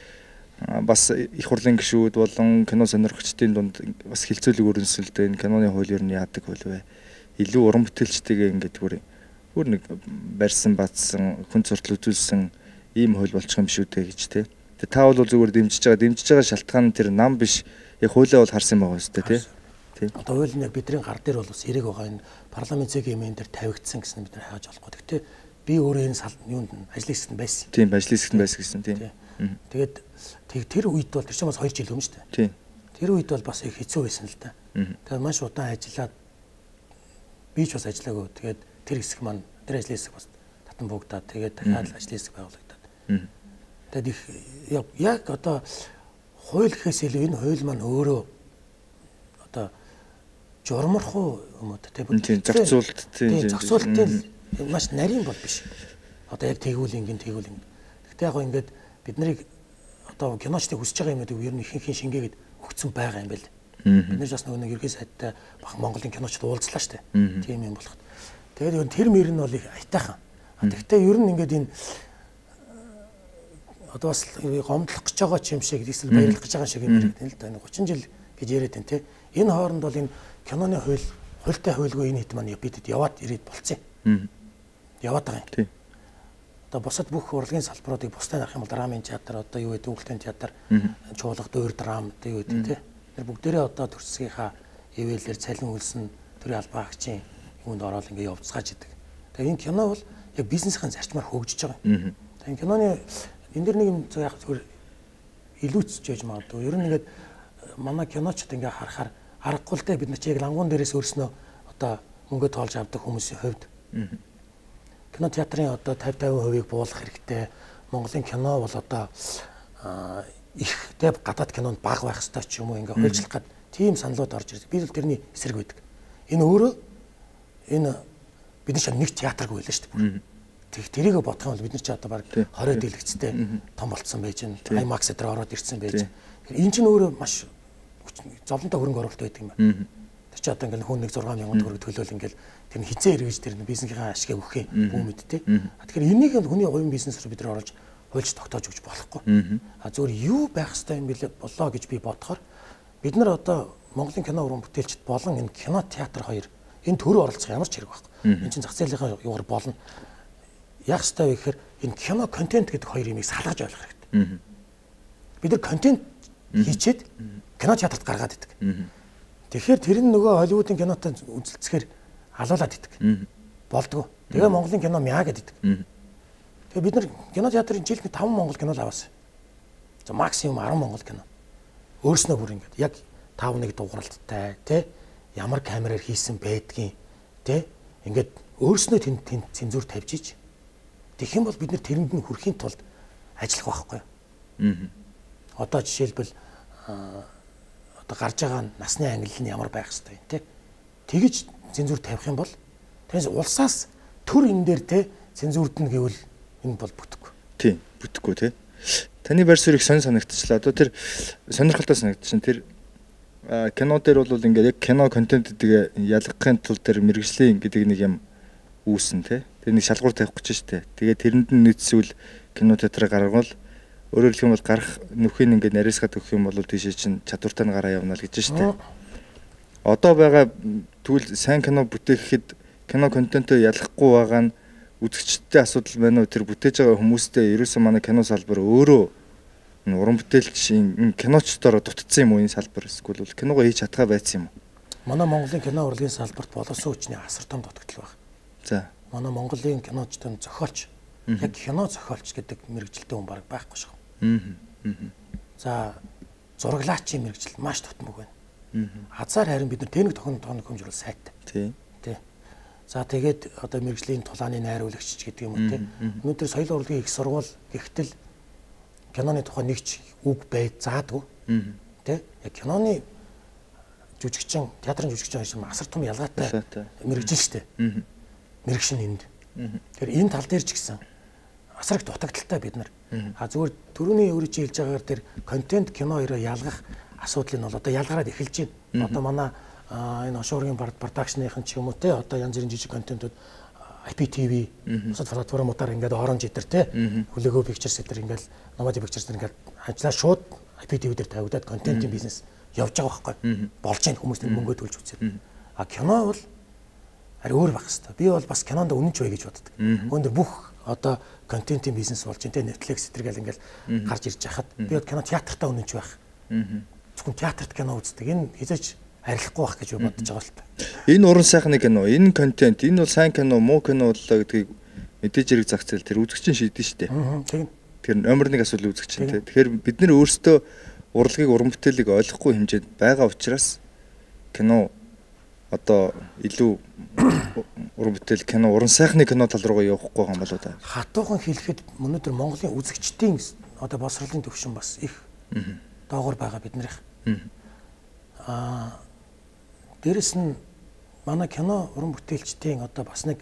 бас их хурлын гишүүд болон кино сонирхогчдын дунд бас хилцүүлэг өрнөсөлтэй энэ киноны хууль ер нь яадаг хууль вэ? Илүү уран бүтээлчтэйгээ ингээд бүр нэг барьсан бадсан хүн суртал үзүүлсэн ийм хууль болчих юм шүү дээ гэж те. Тэгээ та бол зүгээр дэмжиж байгаа шалтгаан нь тэр нам биш. Яг хуулиа бол харсан байгаа үстэй те. Тийм. Одоо хууль нь яг бидний гар дээр бол бас хэрэг байгаа энэ парламент цэгийн дээр тавигдсан гэсэн бид нар хайж болохгүй. Гэхдээ би өөрөө энэ юунд ажлын хэсэгт байсан. Тийм, ажлын хэсэгт байсан гэсэн тийм. Тэгээд тэр үед бол тэр чинь бас 2 жил өмнө шүү дээ. Тийм. Тэр үед бол бас их хэцүү байсан л да. Тэгээд маш удаан ажиллаад би ч бас ажиллаагүй. Тэгээд тэр хэсэг маань тэр ажлын хэсэг бас татан буугдаад тэгээд дахиад ажлын хэсэг байгуулагдаад. Тэгээд их яг одоо хууль гэхээс илүү энэ хууль маань өөрөө одоо журмархуу юм уу тийм зохицуултын маш нарийн бол биш. Одоо яг тэгвэл ингэн. Гэхдээ яг ингээд бид нарыг одоо киночдыг хүсэж байгаа юм гэдэг ер нь ихэнх шингээгээд өгцөн байгаа юм байл. Бид нар бас нэг ерхий сайдтай бах Монголын киночд уулзлаа штэ. Тийм юм болоход. Тэгээд ер нь тэр мөр нь бол их айтайхан. Гэхдээ ер нь ингээд энэ одоо бас гомдлох гэж байгаа ч юм шиг эсвэл баярлах гэж байгаа шиг юм байна л да. 30 жил гэж яриад байна те. Энэ хооронд бол энэ киноны хуультай хуульгүй энэ хэд маань бидэд яваад ирээд болцсон юм. Яваад байгаа юм. Одоо бусад бүх урлагийн салбаруудыг бусдаа авах юм бол драмын театр одоо юу гэдэг өвөлтийн театр, чуулга, дуур драм одоо юу гэдэг те. Тэр бүгдээрээ одоо төрсгийнхаа ивэлээр цалин үлсэн төрийн албаагчийн юунд ороод ингээ явцгааж идэг. Тэгээ энэ кино бол яг бизнесийн зарчмаар хөгжиж байгаа юм. Тэгээ киноны энэ дэр нэг юм яг зүгээр илүүцж яж магадгүй. Ер нь ингээд манай киночд ингээ харахаар аргагүй л дээ бид нар чи яг лангуун дээрээс өөрснөө одоо мөнгө тоолж авдаг хүмүүсийн хувьд кино театрын одоо 50% буулгах хэрэгтэй. Монголын кино бол одоо их дэв гадаад кинонд бага байх ёстой ч юм уу ингээ хуульчлах гад тийм саналууд орж ирдэг. Би л тэрний эсрэг байдаг. Энэ өөрөө бид нар ч нэг театргүй байлаа шүү дээ. Тэрийг бодох юм бол бид нар ч одоо баг 20 дэлгэцтэй том болцсон байж байна. IMAX дээр ороод ирсэн байж. Энэ чинь өөрөө маш зовлонтой хөрөнгө оруулалт байдаг юм байна. Тэр чи одоо ингээл хүн нэг 6,000 төгрөг төлөөл ингээл тэр нь хизээ эргэж тэр бизнесийнхаа ашиг өгөх юм бүү мэдтэй. Тэгэхээр энийг хүний хувийн бизнес руу бид нар оруулж хуульч тогтоож өгч болохгүй. Зөвөр юу байх ёстой юм бэлээ болоо гэж би бодохоор бид нар одоо Монголын кино уран бүтээлчд болон энэ кино театр хоёр энэ төрөө оролцох ямар ч хэрэг байхгүй. Энэ чинь зах зээлийн югаар болно. Яг ёстой вэ гэхээр энэ кино контент гэдэг хоёр юмыг салгаж ойлгох хэрэгтэй. Бид нар контент хийчээд кино театрт гаргаад идэг. Тэгэхээр тэр нь нөгөө Холливуудын кинотой үзэлцэхээр алуулаад идэг. Болдгоо. Тэгээ Монголын кино мяа гэдэг. Тэгээ бид нар кино театрын жилд 5 монгол кино л аваасан. За максимум 10 монгол кино. Өөрснөө бүр ингээд яг 5-1 дууралттай тий ямар камераар хийсэн байдгийн тий ингээд өөрснөө тэнд цензуур тавьж иж тэгэх юм бол бид нар тэрэнд нь хүрэхийн тулд ажиллах байхгүй. Одоо жишээлбэл одоо гарч байгаа насны ангиллал нь ямар байх ёстой тий. Тэгэж цензуур тавих юм бол тэгээс улсаас төр энэ дээр тий цензуурдна гэвэл энэ бол бүтэхгүй. Тийм. бүтэхгүй тий. Таны байр суурийг санагдчихлаа. Одоо тэр сонирхолтой санагдчихна. Тэр кино дээр бол ингээд яг кино контентыг ялгахын тулд тэр мэрэгжлийн гэдэг нэг юм үүснэ тий. Тэр нэг шалгуур тавих гэж штэ. Тэгээд тэрэнд нь нийцсүүл кино театрыг гаргавал өөрөөр хэлбэл гарах нөхөний ингээд нарийсгаад өгөх юм бол тийшээ чинь чадвартай нь гараа явна л гэж штэ. Одоо байгаа тэгвэл сайн кино бүтээхэд кино контентоо ялгахгүй байгаа нь үзэгчдтэй асуудал байна уу? Тэр бүтээж байгаа хүмүүстэй ерөөсөө манай кино салбар өөрөө уран бүтээлчийн киночдороо дутцсан юм уу энэ салбар эсвэл бол киногоо хийж чадхаа байсан юм уу? Манай Монголын кино урлагийн салбарт боловсон хүчний асар том дутагдал байна. За. Манай Монголын киночдын зохиолч яг кино зохиолч гэдэг мэрэгжилтэй хүн баг байхгүй шээ. За зураглаачийн мэрэгжил маш тутмаг байна. Азар харин бид нар техник тохиолдох хэмжүүл сайтай. Тий. За тэгээд одоо мэрэгжлийн тулааны найруулагч гэдэг юм уу те. Өнөөдөр соёлын урлагийн их сургууль гихтэл киноны тухай нэгч үг байд заадгүй. Тэ? Яг киноны жүжигчин, театрын жүжигчин хоёр асар том ялгаатай мэрэгжил шүү дээ. Мэрэгшин энд. Тэгэхээр энэ тал дээр ч гэсэн асар их дутагдaltaй бид нар. Зүгээр түрүүний өөрөө чи хэлж байгаагаар тэр контент кино хоёроо ялгах асуудал нь бол одоо ялгараад эхэлж байна. Одоо манай энэ ошуургийн продакшныхын ч юм уу те одоо янз бүрийн жижиг контентууд IPTV бусад платформудаар ингээд оранж идэр те хүлээгөө pictures гэдэг ингээд Nomad Pictures ингээд ажиллаа шууд IPTV дээр тавигдаад контентын бизнес явж байгаа байхгүй болж байгаа хүмүүс мөнгө төлж үзээд а кино бол ари өөр байх хэвээр би бол бас кинонд үнэнч бай гэж боддог өндөр бүх одоо контентын бизнес болж байна те Netflix зэрэг ингээд гарч ирж хахад би бол кино театртаа үнэнч байх зөвхөн театрт кино үздэг энэ хязгаарч арилахгүй байх гэж бодож байгаа л та. Энэ уран сайхны кино, энэ контент, энэ бол сайн кино, муу кино боллоо гэдгийг мэдээж хэрэг зах зээл тэр үзэгчин шийдэн шүү дээ. Тийм. Тэр номер 1 асуудал үзэгчин те. Тэгэхээр бид нэр өөрсдөө урлагийг уран бүтээлийг ойлгохгүй хэмжээнд байгаа учраас кино одоо илүү уран бүтээл кино, уран сайхны кино тал руугаа явахгүй байгаа юм болоо да. Хатуухан хэлэхэд өнөөдөр Монголын үзэгчдийн одоо боловсролын төвшин бас их доогоор байгаа биднэрх. Дээрэс нь манай кино уран бүтээлчдийн одоо бас нэг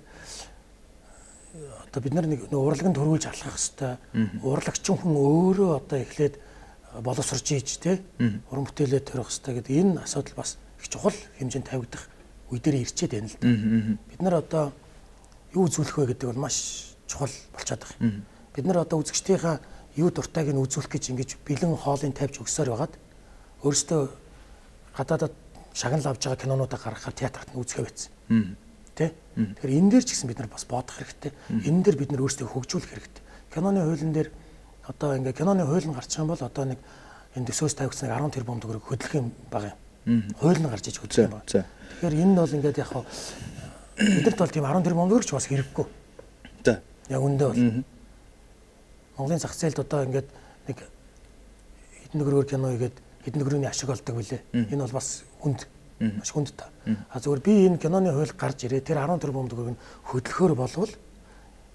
одоо бид нар нэг урлаганд хөрвүүлж алхах хэвээр урлагчин хүн өөрөө одоо эхлээд боловсрож ийж те уран бүтээлээ төрөх хэвээр гэдэг энэ асуудал бас их чухал хэмжээнд тавигдах үе дээр ирчээд байна л да. Бид нар одоо юу үзүүлэх вэ гэдэг бол маш чухал болчиход байгаа. Бид нар одоо үзэгчдийнхаа юу дуртайг нь үзүүлэх гэж ингэж бэлэн хоолыг тавьж өгсөөр байгаад өөрөөсөө гадаадад шагнал авж байгаа кинонуудаа гаргахаар театрт нь үзэхэ байсан. Тэ? Тэгэхээр энэ дээр ч гэсэн бид нар бас бодох хэрэгтэй. Энэ дээр бид нар өөрсдөө хөгжүүлэх хэрэгтэй. Киноны хуулийн дээр одоо ингээ киноны хууль нь гарчих юм бол одоо нэг энэ төсөөс тавигдсан 10 тэрбум төгрөг хөдлөх юм байгаа юм. Хууль нь гарч иж хөдлөх юм байна. Тэгэхээр энэ нь бол ингээд яг хаа бидэрт бол тийм 10 тэрбум төгрөг ч бас хэрэггүй. За. Яг үндэ бол Монголын зах зээлд одоо ингээд нэг хэдэн төгрөгөөр кино игээд хэдэн төгрөгийн ашиг олдог билээ. Энэ бол бас хүнд маш хүнд та. А зөвхөн би энэ киноны хууль гарч ирээ тэр 10 тэрбум төгрөгийг хөдлөхөөр болвол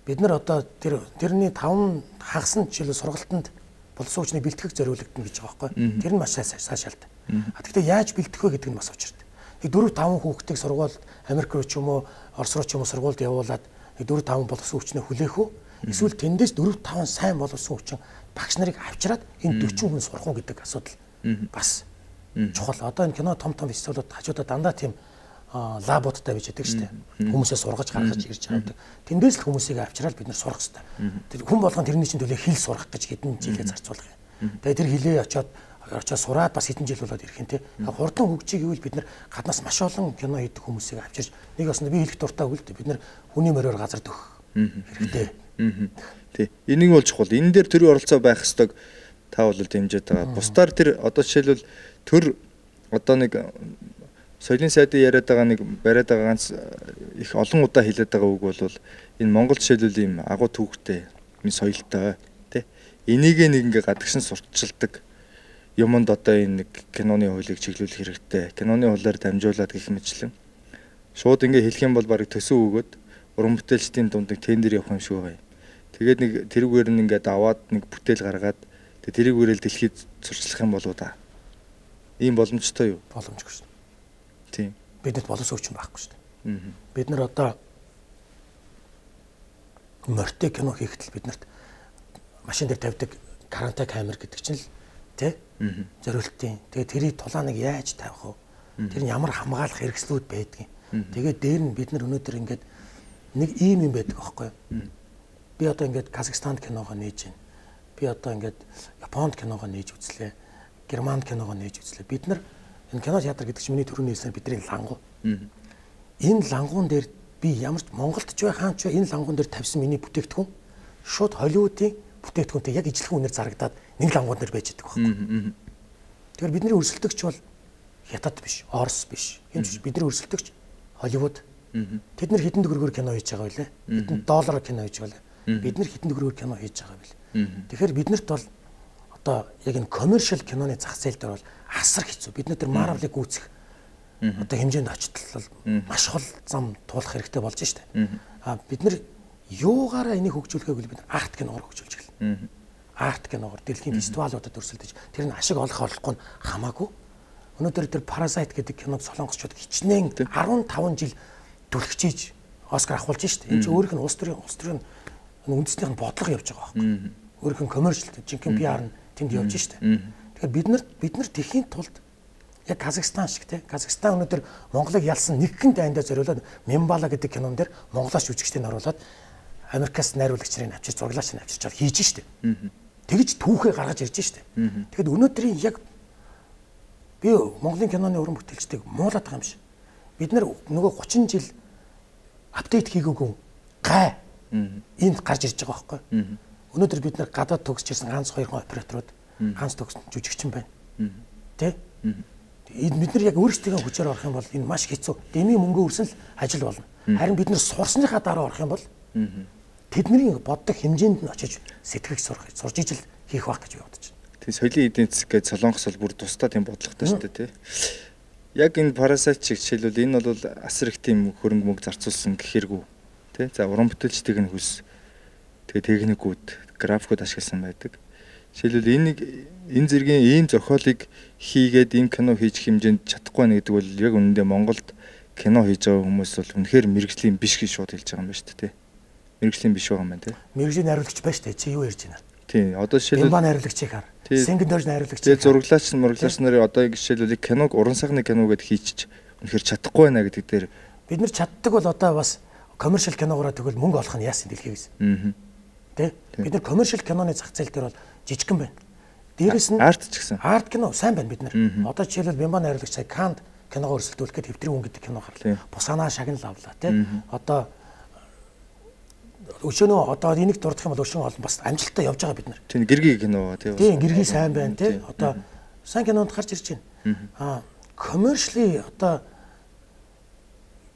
бид нар одоо тэрний 5 хагас нь жишээл сургалтанд боловсон хүчний бэлтгэх зориулагдана гэж байгаа байхгүй. Тэр нь маш сайшаалтай. А тэгэхээр яаж бэлтгэх вэ гэдэг нь бас учиртай. Нэг 4-5 хүүхдийг сургуульд Америк руу ч юм уу Орос руу ч юм уу сургуульд явуулаад 4-5 боловсон хүчнээ хүлээх үү? Эсвэл тэндээс 4-5 сайн боловсон хүчин багш нарыг авчираад энэ 40 хүн сурах уу гэдэг асуудал бас чухал. Одоо энэ кино том фестивалууд хажуудаа дандаа тийм лабуудтай байж байдаг шүү дээ. Хүмүүсээ сургаж гаргаж ирж байгаа. Тэндээс л хүмүүсийг авчираад бид нар сурах хэрэгтэй. Тэр хүн болгон тэрний чинь төлөө хэл сурах гэж хэдэн жилээ зарцуулах юм. Тэгээ тэр хэлээ очиод сураад бас хэдэн жил болоод ирэх юм те. Хурдан хөгжиж гэвэл бид нар гаднаас маш олон кино хийдэг хүмүүсийг авчирч нэг бас би хэлэх дуртай үгүй л дээ. Бид нар хүний мороор газар дөх хэрэгтэй. Тий. Энийг бол чухал. Энэ дээр төрийн оролцоо байх ёстойг та бол дэмжиж байгаа. Бусдаар тэр одоо жишээлбэл төр одоо нэг соёлын сайдын яриад байгаа нэг бариад байгаа ганц их олон удаа хэлээд байгаа үг бол энэ Монгол жишээлбэл ийм агуу түүхтэй энэ соёлтой тий. Энийг нэг ингээ гадагшин сурталчилдаг юмд одоо энэ нэг киноны хуулийг чиглүүлэх хэрэгтэй. Киноны хуулиар дамжуулаад гэх мэтлэн шууд ингээ хэлэх юм бол барыг төсөө өгөөд уран бүтээлчдийн дунд нэг тендер явах юм шиг байгаа юм. Тэгээд нэг тэрүүгээр нь ингээд аваад нэг бүтээл гаргаад тэрүүгээрэл дэлхийд зурчлах юм болоо да. Ийм боломжтой юу? Боломжгүй шүү. Тийм. Бидэд боловсон хүчин байхгүй шүү дээ. Бид нар одоо морьтой кино хийхдээ биднэрт машин дээр тавьдаг каранта камер гэдэг чинь л тий зориултын. Тэгээд тэрийг тулааныг яаж тавих вэ? Тэр нь ямар хамгаалах хэрэгслүүд байдгийг. Тэгээд дээр нь бид нар өнөөдөр ингээд нэг ийм юм байдаг аахгүй юу? Би одоо ингээд Казахстанд киногоо нээж байна. Би одоо ингээд Японд киногоо нээж үзлээ. Германд киногоо нээж үзлээ. Бид нар энэ кино театр гэдэг чинь миний төрөний хэлсэн бидний лангуу. Энэ лангуун дээр би ямар ч Монголд ч бай хаанч бай энэ лангуун дээр тавьсан миний бүтээгдэхүүн шууд Холливуудын бүтээгдэхүүнтэй яг ижилхэн үнээр зарагдаад нэг лангуун дээр байж байгаа байхгүй. Тэгэхээр бидний өрсөлдөгч бол Хятад биш, Орос биш. Хинч бидний өрсөлдөгч Холливуд. Тэд нар хэдэн төгрөгөөр кино хийж байгаа вэ? Хэдэн доллараар кино хийж байгаа вэ? Бид нар хэдэн төгрөгөөр кино хийж байгаа вэ? Тэгэхээр биднэрт бол одоо яг энэ commercial киноны зах зээл дээр бол асар хэцүү. Бид нар Marvel-ыг гүйцэх одоо хэмжээнд очтол маш хол зам туулах хэрэгтэй болж штэ. Бид нар юугаараа энийг хөгжүүлэхээ бол бид арт киноор хөгжүүлж гэлээ. Арт киноор дэлхийн фестивалуудад өрсөлдөж тэр нь ашиг олох олохгүй хамаагүй. Өнөөдөр тэр Parasite гэдэг киног солонгосчууд хичнээн 15 жил түлхчиж Оскар авахулж штэ. Энэ чинь өөрийнх нь улс төрийн үндэснийх нь бодлого явж байгаа байхгүй. Өөрийнх нь commercial жинхэнэ PR нь тэнд явж штэ. Тэгэхээр бид нар тэхийн тулд яг Казахстан шиг тий. Казахстан өнөөдөр Монголыг ялсан нэгэн дайндаа зориулаад Мембала гэдэг кинон дээр монголооч жүжигчдийг оруулаад Америкаас найруулагч нарыг авчир зураглаач нарыг авчирч чад хийж штэ. Тэгж түүхээ гаргаж ирж штэ. Тэгэхэд өнөөдрийн яг би Монголын киноны уран бүтээлчдийг муулаад байгаа юм биш. Бид нар нөгөө 30 жил апдейт хийгээгүй гай энд гарч ирж байгаа байхгүй. Өнөөдөр бид нар гадаад төгсөж ирсэн ганц 2 операторууд ганц төгсөн жүжигчин байна. Тэ? Бид нар яг өөрсдөө хүчээр орох юм бол энэ маш хэцүү. Дэмий мөнгө өрсөн л ажил болно. Харин бид нар сурсныхаа дараа орох юм бол тэдний боддог хэмжээнд нь очиж сэтгэх сурж ижил хийх байх гэж би бодож байна. Тэгээ соёлын эдийн засаг гэж солонгос бол бүр тусдаа тийм бодлоготой шүү дээ тий. Яг энэ Parasite шиг жишээлбэл энэ бол асар их тийм хөрөнгө мөнгө зарцуулсан гэхэргүй тий. За уран бүтээлчдийн нь хүс тэгээ техникүүд, графикууд ашигласан байдаг. Жишээлбэл энэ зэргийн ийм зохиолыг хийгээд ийм кино хийж хэмжээнд чадахгүй байна гэдэг бол яг үнэндээ Монголд кино хийж байгаа хүмүүс бол үнэхээр мэрэгжлийн биш гэж шууд хэлж байгаа юм байна шүү дээ. Мэрэгжлийн биш байгаа юм байна тий. Мэрэгжлийн найруулагч байна шүү дээ. Чи юу ярьж байна? Тий. Одоо жишээлбэл Бимба найруулагчийг хар. Сингендорж найруулагч. Тэгээ зураглаач нарын одоо жишээлбэл киног уран сайхны кино гэдээ хийчих үнэхээр чадахгүй байна гэдэг дээр бид нар чаддаг бол одоо бас commercial киногоор тэгвэл мөнгө олох нь яасан дэлхийгээс. Тэ? Бид нар commercial киноны зах зээл дээр бол жижигхэн байна. Дээрээс нь арт ч гэсэн. Арт кино сайн байна бид нар. Одоо жишээлбэл Бимба найруулагч сая Канд киногоор өрсөлдүүлэхэд Хэвтрийн хүн гэдэг кино гарлаа. Бусанаа шагнал авлаа тий. Одоо өшөөнөө одоо энийг дурдах юм бол өшөөн олон бас амжилттай явж байгаа бид нар. Тийм гэргийн кино тий. Тийм гэргийн сайн байна тий. Одоо сайн кинонд гарч ирж байна. Commercially одоо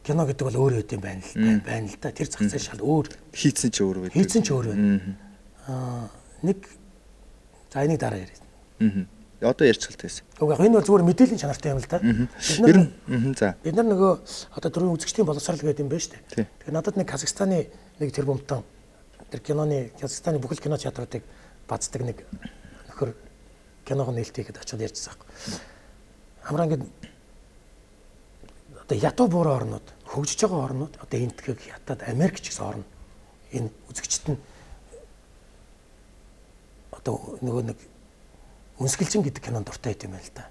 кино гэдэг бол өөр өд юм байна л да. Тэр зах зээл шал өөр. Хийцэн ч өөр байдаг. Хийцэн ч өөр байна. Нэг за энийг дараа ярина. Одоо ярьчихлаа гэсэн. Уг энэ бол зүгээр мэдээллийн чанартай юм л да. Бид нар нөгөө одоо дөрвөн үзэгчдийн боловсрал гэдэг юм байна шүү дээ. Тэгэхээр надад нэг Казахстаны нэг тэрбумтан тэр киноны Казахстаны бүхэл кино театруудыг бацдаг нэг нөхөр киног нээлттэй гэдээ очиод ярьжсан байхгүй. Хамраа ингээд одоо ятуу буурай орнууд, хөгжиж байгаа орнууд одоо энтхэг хятад Америк ч гэсэн орно. Энэ үзэгчд нь одоо нөгөө нэг Үнсгэлжин гэдэг кинонд дуртай байт юм байна л да.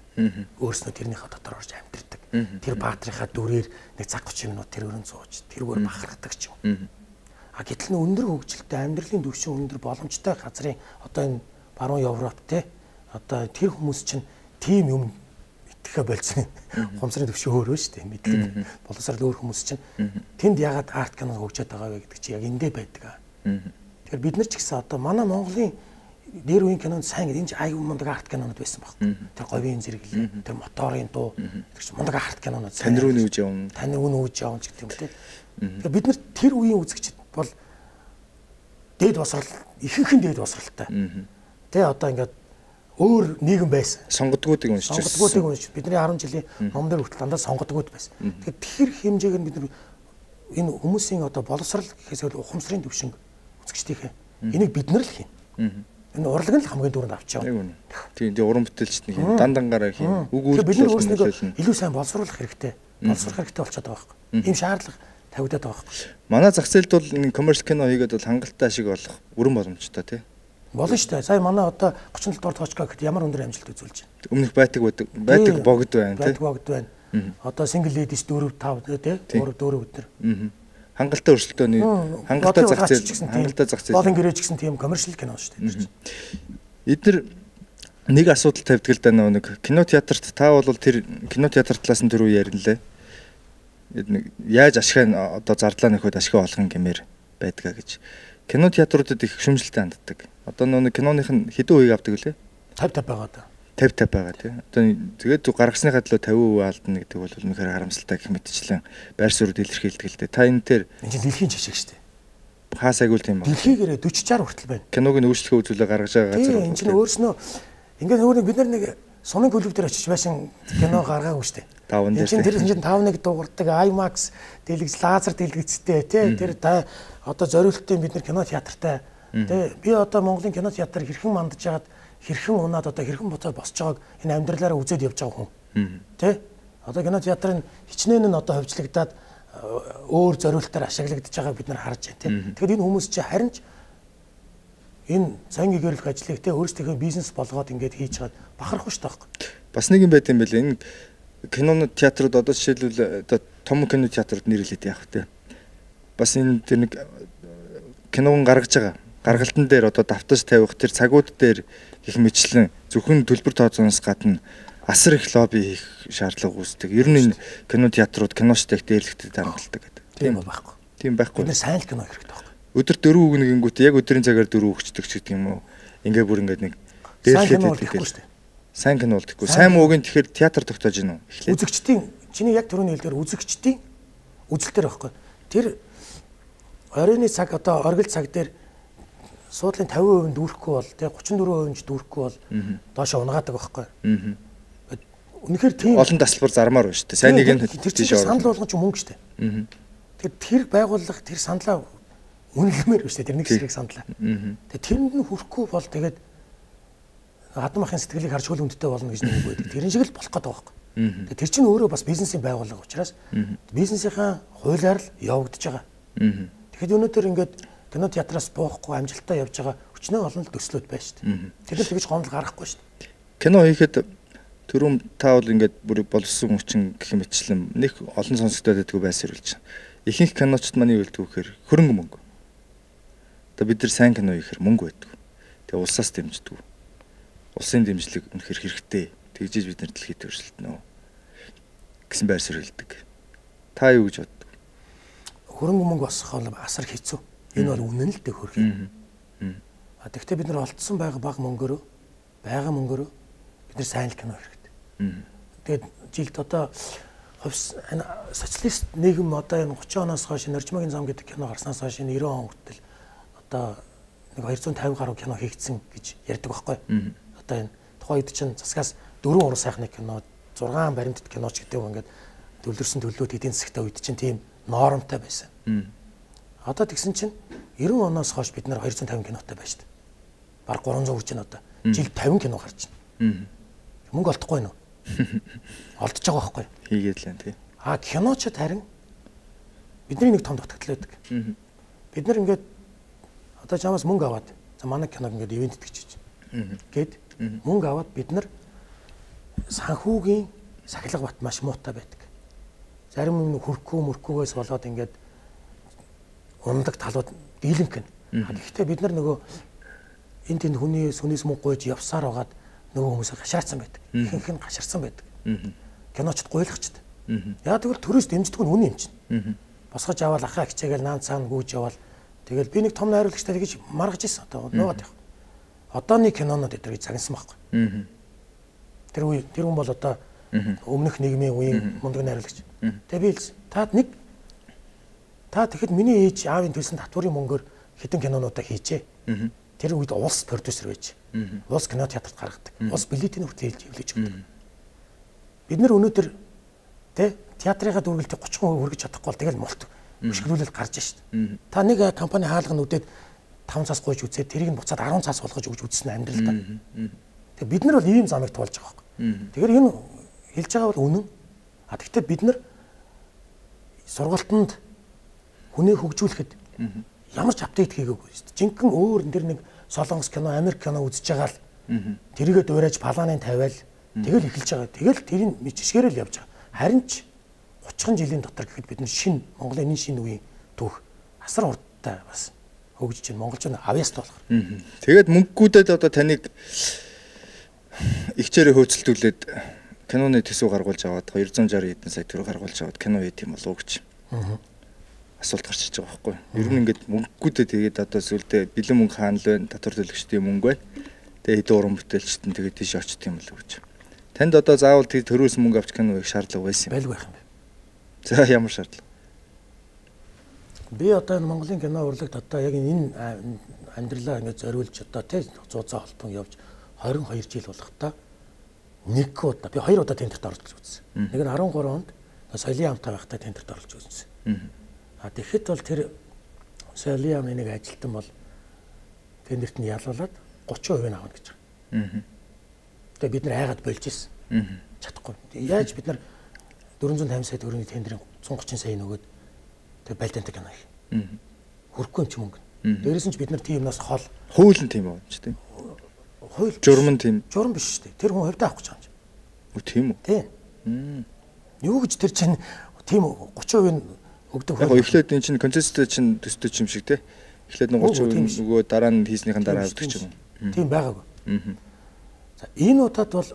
Өөрснөө тэрнийхээ дотор орж амьдэрдэг. Тэр баатрынхаа дүрээр нэг цаг 30 минут тэр өрön сууж, тэргээр бахархдаг ч юм. Гэтэл өндөр хөгжилтэй амьдралын түвшин өндөр боломжтой газрын одоо энэ баруун Европ те одоо тэр хүмүүс чинь тийм юм итгэхэ болцсон. Хумсрын түвшин өөр шүү дээ. Мэдлэг боловсрал өөр хүмүүс чинь тэнд ягаад арт кино хөгжөөд байгаа вэ гэдэг чи яг эндээ байдаг. Тэгэхээр бид нар ч гэсэн одоо манай Монголын дээр үеийн кинонд сайн гэдэг энэ аюу мундаг арт кинонууд байсан байхгүй. Тэр говийн зэрэглэл, тэр моторын дуу, тэр чинь мундаг арт кинонууд сайн. Тань руу нүүж явна. Тань руу нүүж явна гэдэг юм те. Тэгэхээр бид нар тэр үеийн үзэгчд бол дээд босрал, ихэнхэн дээд босралтай. Тэ одоо ингээд өөр нийгэм байсан. Сонгодгуудыг уншиж. Сонгодгуудыг уншиж. Бидний 10 жилийн ном дээр хүртэл дандаа сонгодгууд байсан. Тэгэхээр тэр хэмжээг нь бид нар энэ хүмүүсийн одоо боловсрал гэхээс өөр ухамсарын төвшинг үзэгчдийнхээ энийг бид нар л хийнэ. Энэ урлаг нь л хамгийн дөрөнд авчаа. Тийм уран бүтээлчд нэг дандангаараа хийн. Үг үйлдэл болчихсон. Илүү сайн боловсруулах хэрэгтэй. Боловсрох хэрэгтэй болчиход байгаа байхгүй. Ийм шаардлага тавигдаад байгаа байхгүй. Манай зах зээлд бол энэ commercial кино хийгээд бол хангалттай ашиг олох бүрэн боломжтой тий. Болно шүү дээ. Сая манай одоо 37 дугаар точка гэхэд ямар өндөр амжилт үзүүлж байна. Өмнөх байдаг богд байна тий. Байдаг богд байна. Одоо single ladies 4 5 тий 3 4 өдөр. Хангалттай өрсөлдөөний хангалттай зах зээл. Болон гэрэж гэсэн тийм коммершил кино шүү дээ. Эдгээр нэг асуудал тавьдаг л да нэг кино театрт та бол тэр кино театр талаас нь түрүү яриллаа. Яаж ашиг одоо зардлаа нөхөд ашиг олгох гэмээр байдгаа гэж. Кино театруудад их шүмжлэлтэй ханддаг. Одоо нэг киноных нь хэдэн үеийг авдаг лээ? 50 байгаа да. 50 байгаа тий. Одоо тэгээд гаргасныхаа төлөө 50% алдна гэдэг бол үнэхээр харамсалтай гэх мэтчлэн байр суурь илэрхийлдэг л дээ. Та энэ дээр энэ чинь дэлхийн жишээ шүү дээ. Хаа сайгуул тийм ба. Дэлхийгээрээ 40 60 хүртэл байна. Киног нь өөрчлөлт үзүүлээ гаргаж байгаа газар. Энэ чинь өөрснөө ингээд нөгөө бид нар нэг сумын клуб дээр очиж байсан кино гаргаагүй шүү дээ. Таван дээр. Тэр чинь 5-1 дуурдаг IMAX дэлгэц лазер дэлгэцтэй тий. Тэр одоо зориултын бид нар кино театртай тий. Би одоо Монголын кино театр хэрхэн мандаж яагаад хэрхэн унаад одоо хэрхэн буцаад босч байгааг энэ амьдралаараа үзээд явж байгаа хүн. Тий. Одоо кино театрын хичнээн нь одоо хөвчлөгдөөд өөр зориултаар ашиглагдаж байгааг бид нар харж байна тий. Тэгэхээр энэ хүмүүс чинь харин ч энэ цангийн гэрэлх ажлыг тий өөрсдийнхөө бизнес болгоод ингээд хийж чад бахарах шүү дээ. Бас нэг юм байт юм байлээ. Энэ кинонууд театрууд одоо жишээлбэл одоо том кино театрууд нэрлээд яах вэ? Бас энэ тэр нэг киног гаргаж байгаа. Гаргалтан дээр одоо давтаж тавих тэр цагууд дээр их мэтлэн зөвхөн төлбөр тооцооноос гадна асар их лобби хийх шаардлага үүсдэг. Ер нь энэ кино театрууд киноштэйг дээрлэхтэй хангалттай гэдэг. Тийм байхгүй. Тийм байхгүй. Бид сайн л кино хэрэгтэй байхгүй. Өдөр 4 үгнэгэнгүүт яг өдрийн цагаар 4 өгчдөг ч гэдэг юм уу. Ингээ бүр ингээд нэг дээрлэхэд сайн кино болдоггүй. Сайн муугийн тэгэхээр театр тогтоож гинөө. Үзэгчдийн чиний яг түрүүний хэлдгээр үзэгчдийн үзэлтээр байхгүй. Тэр оройны цаг одоо оргил цаг дээр суудлын 50% дүүрэхгүй бол тэг 34% дүүрэхгүй бол доошо унгаадаг байхгүй. Үнэхээр тийм олон тасалбар зармаар байна шүү дээ. Сайн нэг нь тэр чинь санал болгон ч мөнгө шүү дээ. Тэгэхээр тэр байгууллага тэр саналаа үнэлмээр байна шүү дээ. Тэр нэг хэсгийг саналаа. Тэгээ тэрэнд нь хүрэхгүй бол тэгээд хадам ахын сэтгэлийг харж хөл өндтэй болно гэж нэг үг байдаг. Тэрэн шиг л болох гэдэг байгаа байхгүй. Тэгээ тэр чинь өөрөө бас бизнесийн байгууллага учраас бизнесийнхаа хуулиар л явагдаж байгаа. Тэгэхэд өнөөдөр ингээд кино театраас буухгүй амжилттай явж байгаа өчнөө олон л төслүүд байна шүү дээ. Тэгэхээр тэгж гомдол гаргахгүй шүү дээ. Кино хийхэд түрүүн та бол ингээд бүр болсон хүчин гэх мэтчлэн нэг олон сонсогдоод байдгүй байсарулж байна. Ихэнх киночд манай юу хэлдэг вэхээр хөрөнгө мөнгө. Одоо бид нар сайн кино хийхээр мөнгө байдаг. Тэгээ улсаас дэмждэг. Улсын дэмжлэг үнэхээр хэрэгтэй. Тэгжиж бид нар дэлхийд өрсөлдөнө гэсэн байр суурь хэлдэг. Та юу гэж боддог? Хөрөнгө мөнгө босгох бол асар хэцүү. Энэ бол үнэн л дээ хөргий. Тэгэхдээ бид нар олдсон байгаа бага мөнгөөрөө бид нар сайн л кино хэрэгтэй. Тэгээд жилд одоо социалист нийгэм одоо энэ 30 оноос хойш Норжмагийн зам гэдэг кино гарснаас хойш 90 он хүртэл одоо нэг 250 гаруй кино хийгдсэн гэж ярьдаг байхгүй. Одоо энэ тухайн үед чинь засгаас 4 уран сайхны кино 6 баримтат киноч гэдэг юм ингээд төлөрсөн төлөвлөлт эдийн засгтай үед чинь тийм нормтой байсан. Одоо тэгсэн чинь 90 оноос хойш бид нар 250 кинотой байна шүү дээ. Бараг 300 хүрч байна одоо. Жилд 50 кино гарч байна. Мөнгө олдохгүй нөө. Олдож байгаа байхгүй. Хийгээд л энэ тий. Киночод харин бидний нэг том дутагдал байдаг. Бид нар ингээд одоо чамаас мөнгө аваад за манай киног ингээд ивент итгэж гээд мөнгө аваад бид нар санхүүгийн сахилга бат маш муутай байдаг. Зарим юм хөрхгүйгээс болоод ингээд ундаг талууд дийлэнх нь. Гэхдээ бид нар нөгөө энэ тэнд хүнээс мөнгө гуйж явсаар байгаад нөгөө хүмүүсээ гашаацсан байдаг. Ихэнх нь гашарсан байдаг. Киночд гуйлагчд. Яа тэгвэл төрөөс дэмждэг нь үнэн юм чинь. Босгож аваад ахаа хичээгээл наан цаана гүйж явал тэгэл би нэг том найруулагчтай тэгж маргаж ирсэн одоо нуугаад явах. Одооны кинонууд эдгээр загнасан байхгүй. Тэр хүн бол одоо өмнөх нийгмийн үеийн мундаг найруулагч. Тэгээ би та тэгэхэд миний ээж аавын төлсөн татварын мөнгөөр хэдэн кинонуудаа хийжээ. Тэр үед улс продюсер байж. Улс кино театрт гаргадаг. Улс билетийн хүртэл хилж өгдөг. Бид нар өнөөдөр театрынхаа дүргэлтийг 30% хүргэж чадахгүй бол тэгэл молт өшгөрүүлэл гарч шít. Та нэг компани хаалга нүдэд 5 цаас гуйж үзээд тэрийг нь буцаад 10 цаас болгож өгж үзсэн амьдралдаа. Тэгээ бид нар бол ийм замыг туулж байгаа байхгүй. Тэгэхээр энэ хэлж байгаа бол үнэн. Гэхдээ бид нар сургалтанд хүнийг хөгжүүлэхэд ямар ч апдейт хийгээгүй шүү дээ. Жинхэнэ өөр энэ нэг Солонгос кино, Америк кино үзэж байгаа л тэрийгээ дуурайж палааны тавиал тэгэл эхэлж байгаа. Тэгэл тэрийг жишгээрэл явж байгаа. Харин ч 30 жилийн дотор гэхэд бид нар Монголын шинэ үеийн түүх асар урдтай бас хөгжиж байна. Монголч нь авьяастай болохоор. Тэгээд мөнгөгүүдэд одоо таныг ихчээрээ хөөцөлдүүлээд киноны төсөв гаргуулж аваад 260 хэдэн сая төгрөг гаргуулж аваад кино хийх юм болов уу гэж асуулт гарч иж байгаа байхгүй. Ер нь ингээд мөнгөгүүдэд тэгээд одоо сүлдээ бэлэн мөнгө хаана л байна, татвар төлөгчдийн мөнгө байна. Тэгээд хэдэн уран бүтээлчт нь тэгээд тийш очт юм болов уу гэж. Танд одоо заавал тэр төрөөс мөнгө авч кино хийх шаардлага байсан юм. Байлгүй байх юм бэ. За ямар шаардлага? Би одоо энэ Монголын кино урлагт одоо яг энэ амьдралаа ингээд зориулж одоо тий зузаан холбон явж 22 жил болохдоо нэг удаа би 2 удаа тендерт оролцож үзсэн. Нэг нь 13 онд соёлын амтай байхдаа тендерт оролцож үзсэн. Тэгэхэд бол тэр соёлын амын нэг ажилтан бол тендерт нь ялуулаад 30% нь авна гэж байгаа. Тэгээ бид нар айгаад болж ирсэн. Чадахгүй. Яаж бид нар 450 сая төгрөгийн тендерийн 130 сая нөгөөд тэг байлдаантай кино хийх. Хөрөхгүй юм чи мөнгө. Дээрээс нь ч бид нар тиймнаас хол хууль нь тийм байна ч тийм. Хууль журам нь тийм. Журам биш шүү дээ. Тэр хүн хувьдаа авах гэж байгаа юм чи. Үгүй тийм үү? Тийм. Юу гэж тэр чинь тийм 30% нь өгдөг. Яг эхлээд эн чинь концесстэй чинь төстэй юм шиг те. Эхлээд нь 30% нөгөө дараа нь хийснийхэн дараа авдаг ч юм уу. Тийм байгаагүй. За энэ удаад бол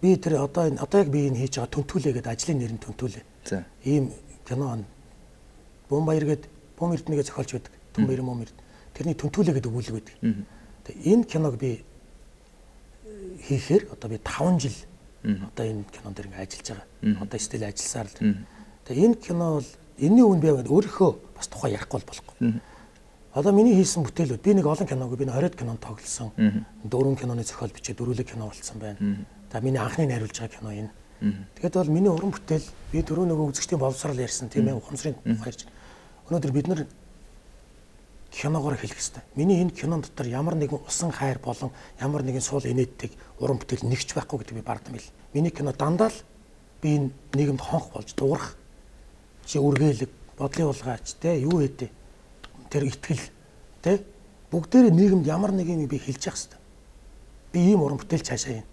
би тэр одоо яг би энэ хийж байгаа Түнтүүлээ гэдэг ажлын нэр нь Түнтүүлээ. За. Ийм кино Бомбаяр гэдэг Бом Эрдэнэгээ зохиолч байдаг. Түнбаяр Момэрд. Тэрний Түнтүүлээ гэдэг өгүүлэг байдаг. Тэгээ энэ киног би хийхээр одоо би 5 жил одоо энэ кинон дээр ингээ ажиллаж байгаа. Одоо стил ажилласаар л. Тэгээ энэ кино бол энэний үн би өөрийнхөө бас тухай ярихгүй болохгүй. Одоо миний хийсэн бүтээлүүд би нэг олон киног би 20 кинонд тоглосон. 4 киноны зохиол бичээ дөрвөлэг кино болсон байна. За миний анхны найруулж байгаа кино энэ. Тэгээд бол миний уран бүтээл би дөрөв нөгөө үзэгчдийн боловсрал ярьсан тийм ээ ухамсарын тухайрч. Өнөөдөр бид нар киногоор хэлэх хэрэгтэй. Миний энэ кинон дотор ямар нэгэн усан хайр болон ямар нэгэн суул инээдтэй уран бүтээл нэгч байхгүй гэдэг би бардам бил. Миний кино дандаа л би энэ нийгэмд хонх болж дуурах чи үргэлэг бодлын улгаач те юу хэдэ тэр итгэл те бүгдээрээ нийгэмд ямар нэг юм би хэлж явах хэрэгтэй. Би ийм уран бүтээл цаашаа юм.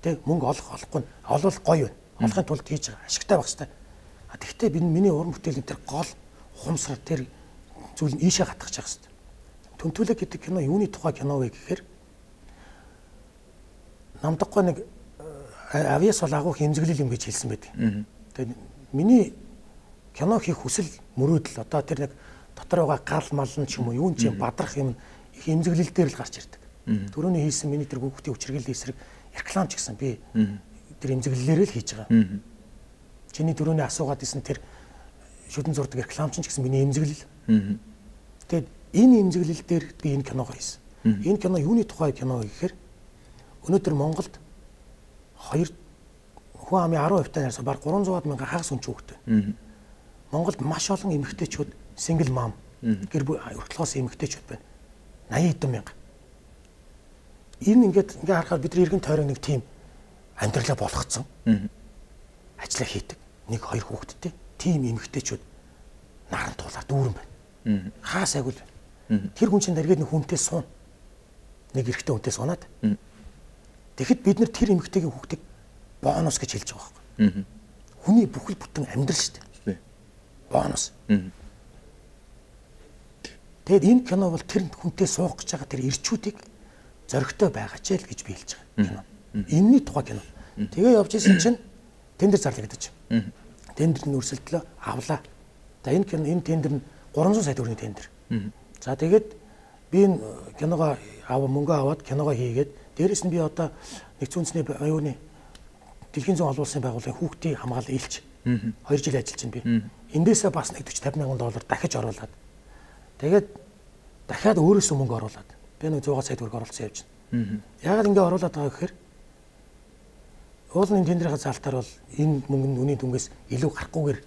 Тэ мөнгө олохгүй олвол гоё байна. Олохын тулд хийж байгаа ашигтай байх хэрэгтэй. Тэгэхдээ би миний уран бүтээлийн тэр гол ухамсар тэр зүйл нь ийшээ хатгах хэрэгтэй. Түнтүүлэг гэдэг кино юуны тухай кино вэ гэхээр намдаггүй нэг авьяас бол агуу хэмзэглэл юм гэж хэлсэн байдаг. Тэгээд миний кино хийх хүсэл мөрөөдөл одоо тэр нэг дотор байгаа гал мал нь ч юм уу юун ч юм бадрах юм их хэмзэглэл дээр л гарч ирдэг. Түрүүний хийсэн миний тэр хүүхдийн хүчирхийлэл эсрэг реклам ч гэсэн би тэр эмзэглэлээр л хийж байгаа. Чиний дөрөвний асуугаад исэн тэр шүдэн зурдаг реклам ч гэсэн миний эмзэглэл. Тэгээд энэ эмзэглэл дээр би энэ киногоо хийсэн. Энэ кино юуны тухай кино гэхээр өнөөдөр Монголд хүн амын 10% тань баг 300 мянган хагас хүн хүүхдтэй. Монголд маш олон эмэгтэйчүүд single mom гэр бүл өртөлгөөс эмэгтэйчүүд байна. 80 хэдэн мянга. Энэ ингээд харахаар бидний иргэн тойрог нэг тийм амьдралаа болгоцсон. Ажлаа хийдэг. 1-2 хүүхэдтэй. Тийм эмэгтэйчүүд наран туулаад дүүрэн байна. Хаа сайгүй л байна. Тэр хүн чинь дэргээд нэг хүнтэй суун. Нэг эрэгтэй хүнтэй сунаад. Тэгэхэд бид нар тэр эмэгтэйгийн хүүхдийг бонус гэж хэлж байгаа байхгүй. Хүний бүхэл бүтэн амьдрал шүү дээ. Бонус. Тэгэд энэ кино бол тэр хүнтэй суух гэж байгаа тэр ирчүүдийг зоригтой байгаа ч л гэж би хэлж байгаа кино. Энэний тухай кино. Тэгээ явж исэн чинь тендер зарлагдаж. Тендерний өрсөлдлөө авлаа. За энэ кино энэ тендер нь 300 сая төгрөгийн тендер. За тэгээд би энэ киногоо мөнгө аваад киногоо хийгээд дээрэс нь би одоо нэгдсэн үндэсний аюуны дэлхийн зүүн олуулсан байгууллагын хүүхдийн хамгаалал илч 2 жил ажиллаж байна би. Эндээсээ бас нэг 40-50 мянган доллар дахиж оруулаад тэгээд дахиад өөрөөсөө мөнгө оруулаад би нэг 100 сая төгрөг оруулсан явж байна. Яагаад ингэ оруулаад байгаа гэхээр уулын тендерийн залтаар бол энэ мөнгө нь үнийн дүнгээс илүү гарахгүйгээр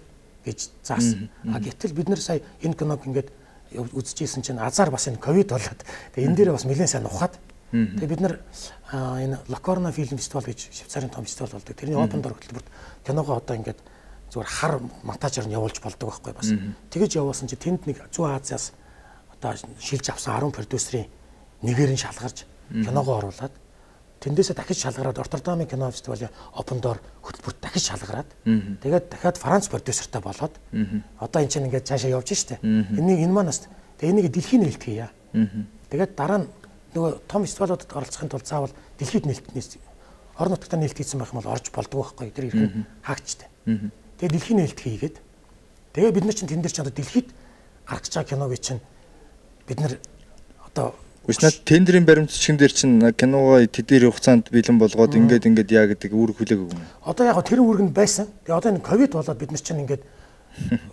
гэж заасан. Гэтэл бид нэр сая энэ киног ингээд үзчихсэн чинь азар бас энэ ковид болоод тэгээ энэ дээрээ бас нэлээд сайн ухаад тэгээ бид нар энэ Локорно фильм фестивал гэж Швейцарын том фестивал болдог. Тэрний open door хөтөлбөрт киногоо одоо ингээд зүгээр хар монтажаар нь явуулж болдог байхгүй бас. Тэгэж явуулсан чи тэнд нэг Зүүн Азиас одоо шилж авсан 10 продюсерийн нэгээр нь шалгарч киногоо оруулаад тэндээсээ дахиж шалгараад Роттердамын кино фестивалийн Open Door хөтөлбөрт дахиж шалгараад тэгээд дахиад Франц продюсертай болоод одоо энэ чинь ингээд цаашаа явж штэ. Энэ манаас тэгээд энийг дэлхийн нээлт хийя. Тэгээд дараа нь нөгөө том фестивалуудад оролцохын тулд заавал дэлхийд нээлтнээс орон нутгад нээлт хийсэн байх юм бол орж болдог байхгүй. Тэр ирхэн хаагчтай. Тэгээд дэлхийн нээлт хийгээд тэгээд бид нар чинь тэн дээр чинь одоо дэлхийд гарч байгаа киног чинь бид нар одоо Үснэ тендерийн баримтчгийн дээр чинь киногоо тэдний хугацаанд бэлэн болгоод ингээд яа гэдэг үүрэг хүлээгээгүй юм. Одоо яг тэр үүрэг нь байсан. Тэгээ одоо энэ ковид болоод бид нар чинь ингээд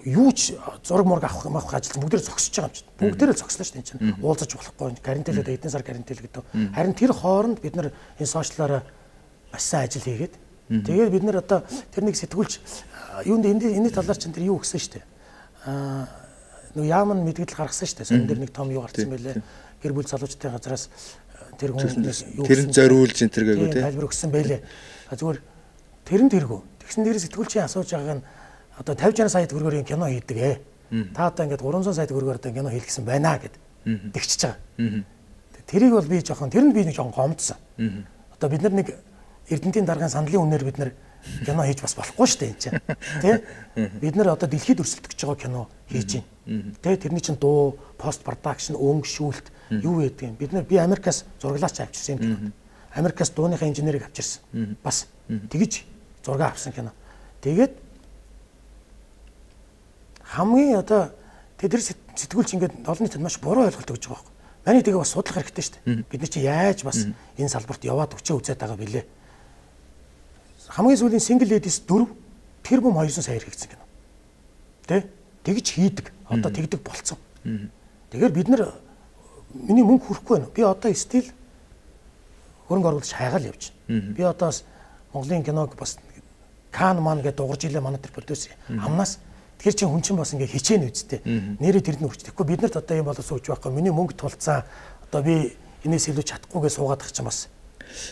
юу ч зураг мураг авах ажил бүгдээр зогсож байгаа юм чинь. Бүгдээрээ зогслоо шүү дээ энэ чинь. Уулзаж болохгүй карантинлээд эдэн сар карантинлээ гэдэг. Харин тэр хооронд бид нар энэ сошиалаараа маш сайн ажил хийгээд тэгээд бид нар одоо тэрнийг сэтгүүлч юунд энэ талаар чинь тэр юу гэсэн шүү дээ. Нөгөө яамн мэдгэл гаргасан шүү дээ. Сон дээр нэг том юу гарсан байлээ. Гэр бүл залуучдын газраас тэр хүн тэр нь зориулж энэ төр гээгүү тий. Тайлбар өгсөн байлээ. Зүгээр тэр нь тэргүү. Тэгсэн дээрээ сэтгүүлчийн асууж байгаа нь одоо 50-60 сая төгрөгөөр кино хийдэг ээ. Та одоо ингээд 300 сая төгрөгөөр одоо кино хийх гэсэн байна гэд тэгчихэж байгаа. Тэрийг бол би жоохон тэр нь би нэг жоохон гомдсон. Одоо бид нар нэг Эрдэнтийн даргын сандлын үнээр бид нар кино хийж бас болохгүй шүү дээ энэ чинь. Тэ? Бид нар одоо дэлхийд өрсөлдөх гэж байгаа кино хийж байна. Тэ? Тэрний чинь дуу, пост продакшн, өнгө шүүлт юу гэдэг юм. Бид нар би Америкаас зураглаач авчирсан юм. Америкаас дууныхаа инженерийг авчирсан. Бас тэгж зураг авсан кино. Тэгээд хамгийн одоо тэр сэтгүүлч ингээд олон нийтэд маш буруу ойлголт өгч байгаа байхгүй. Маний тэгээ бас судлах хэрэгтэй шүү дээ. Бид нар чи яаж бас энэ салбарт яваад өчөө үзээд байгаа бэлээ. Хамгийн сүүлийн single ladies 4 тэр бом 200 сая хэрэгцсэн кино. Тэ? Тэгж хийдэг. Одоо тэгдэг болцсон. Тэгэхээр бид нар миний мөнгө хүрэхгүй байна. Би одоо стил хөрөнгө оруулж хайгаал явж байна. Би одоо Монголын киног бас Кан ман гэдэг дуурж илээ манай тэр продюсер амнаас тэр чинь хүн чинь бас ингээ хичээн үсттэй. Нэрээ тэрд нь үрчтэхгүй бид нарт одоо юм болоо сууж байхгүй. Миний мөнгө тулцсан. Одоо би энэс илүү чадахгүйгээ суугаад ах чинь бас.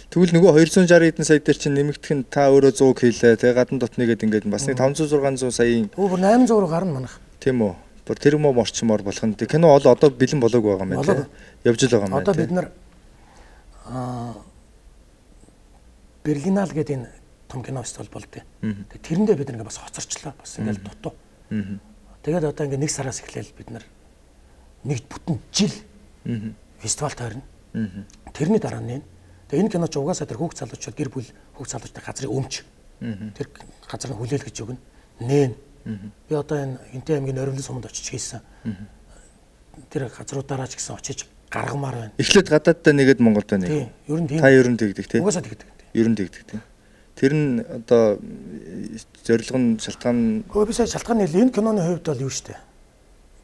Тэгвэл нөгөө 260 хэдэн сая дээр чинь нэмэгдэх нь та өөрөө 100 хийлээ. Тэгээ гадна дотныгээд ингээд бас нэг 500 600 саяын бүр 800 руу гарна манайх. Тийм үү. Бүр тэр мөм орчмоор болох нь. Кино одоо бэлэн болоог байгаа юм байна. Явж л байгаа юм байна. Одоо бид нар Берлиналь гэдэг энэ том кино фестивал болдгоо. Тэгээ тэрэндээ бид нэг бас хоцорчлоо. Бас ингээд дутуу. Тэгээд одоо ингээд нэг сараас эхлээл бид нар нэг бүтэн жил фестивал тойрно. Тэрний дараа нь тэгээ энэ кино ч угаасаа тэр хүүхд залуучууд гэр бүл хүүхд залуучтай газрын өмч. Тэр газрын хүлээлгэж өгнө. Нээн. Би одоо энтэй аймгийн Орилын суманд очиж хийсэн. Тэр газруудаараа ч гэсэн очиж гаргамаар байна. Эхлээд гадааддаа нэгээд Монголд байна. Тийм. Ер нь тийм. Та ер нь тэгдэг тийм. Угаасаа тэгдэг. Ер нь тэгдэг тийм. Тэр нь одоо зорилго нь шалтгаан. Гэхдээ би сая шалтгаан нэл энэ киноны хувьд бол юу штэ.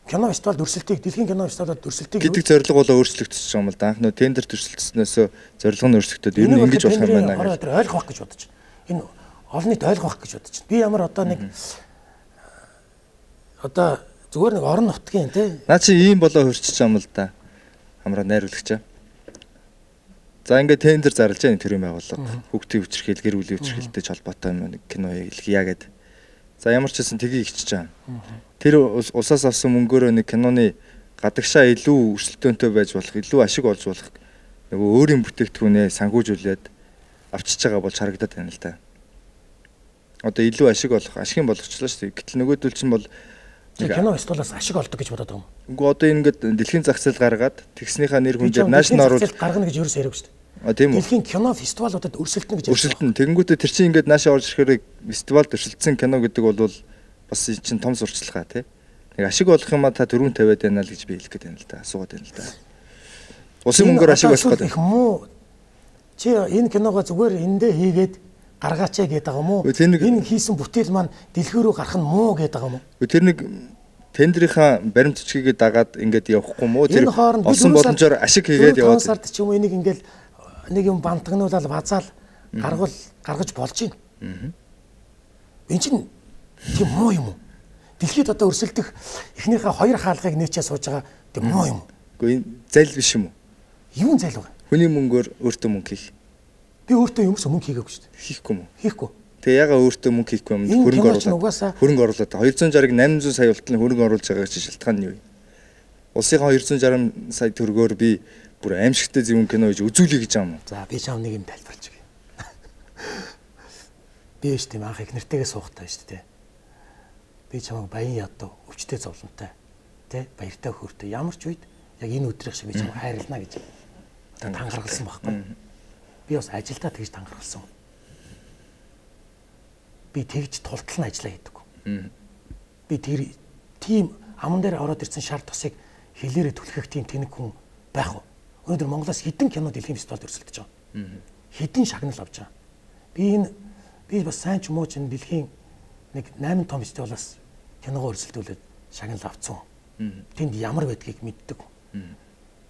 Кино фестивал дүрсэлтийг дэлхийн кино фестивалд дүрсэлтийг гэдэг зорилго болоо өөрчлөгдсөн юм л да. Анх нөө тендер дүрсэлтснээс зорилго нь өөрчлөгдөд ер нь ингэж болох юм байна гэж ойлгох гэж бодож байна. Энэ олон нийт ойлгох гэж бодож байна. Би ямар одоо нэг одоо зүгээр нэг орон нутгийн тий. Наа чи ийм болоо хөрчиж юм л да. Хамраа найруулагчаа. За ингээд тендер зарлаж байгаа тэр юм байгууллага. Хүүхдийн хүчирхийл, гэр бүлийн хүчирхийлтэй холбоотой нэг кино хийлгийа гэд. За ямар ч гэсэн тгийг хичиж байгаа. Тэр улсаас авсан мөнгөөрөө нэг киноны гадагшаа илүү өрсөлдөөнтэй байж болох, илүү ашиг олж болох нөгөө өөрийн бүтээгдэхүүнээ санхүүжүүлээд авчиж байгаа болж харагдаад байна л да. Одоо илүү ашиг олох, ашигын болгочлаа шүү дээ. Гэтэл нөгөөдөл чинь бол кино фестивалаас ашиг олдог гэж бодоод байгаа юм. Үгүй одоо ингээд дэлхийн зах зээл гаргаад тэгснийхаа нэр хүнээр наашнл оруулалт гаргана гэж ерөөсөө яриаг шүү дээ. А тийм үү. Дэлхийн кино фестивалуудад өрсөлдөнө гэж өрсөлдөн. Тэгэнгүүтээ тэр чинь ингээд наашаа орж ирэхээр фестивалд өрсөлдсөн кино гэдэг бол бас чинь том сурталчилгаа тий. Нэг ашиг олох юм а та дөрөв тавиад байна л гэж би хэлэх гээд байна л да. Асуугаад байна л да. Усын мөнгөөр ашиг олох гэдэг. Муу чи энэ киногоо зүгээр эндээ хийгээд гаргаачаа гэдэг байгаа юм уу? Энэ хийсэн бүтээл маань дэлхий рүү гарах нь муу гэдэг байгаа юм уу? Тэр нэг тендерийнхаа баримт бичгийг дагаад ингээд явахгүй мó тэр олсон боломжоор ашиг хийгээд яваад. Концерт ч юм уу энийг ингээд нэг юм бантагнуулаад базаал гаргаж болж байна. Энэ чинь тийм муу юм уу? Дэлхийд одоо өрсөлдөх эхнийхээ хоёр хаалгыг нээчээ сууж байгаа тийм муу юм уу? Үгүй энэ зайл биш юм уу? Юу зайл вэ? Хүний мөнгөөр өөртөө мөнгө хийх. Би өөртөө юмс мөнгө хийгээгүй шүү дээ. Хийхгүй юм уу? Хийхгүй. Тэгээ ягаа өөртөө мөнгө хийхгүй юм хөрөнгө оруулаад. 260-ыг 800 сая болтол хөрөнгө оруулж байгаа гэж шалтгаан нь юу вэ? 260 сая 800 улсынхаа 260 сая төгрөгөөр би бүр аимшигтай зөвхөн кино гэж үзүүлье гэж байгаа юм. За би чам нэг юм тайлбарлаж өгье. Би ч тийм анх их нэртэйгээ суухтай шүү дээ. Би чамайг баян ядуу өвчтэй зовлонтой тий баяртай хөөртэй ямар ч үед яг энэ өдрийнх шиг би чамайг хайрлана гэж тангаргалсан байхгүй. Би бас ажилдаа тэгж тангаргалсан. Би тэгж тултал нь ажиллаа хийдэггүй. Би тэр тийм аман дээр ороод ирсэн шар тосыг хэлээрээ түлхэх тийм тэнэг хүн байх уу? Өнөөдөр Монголоос хэдэн кино дэлхийн фестивалд өрсөлдөж байгаа. Хэдэн шагнал авч байгаа. Би бас сайн ч муу ч дэлхийн нэг 8 том фестивалаас киногоо өрсөлдүүлээд шагнал авцсан. Тэнд ямар байдгийг мэддэг.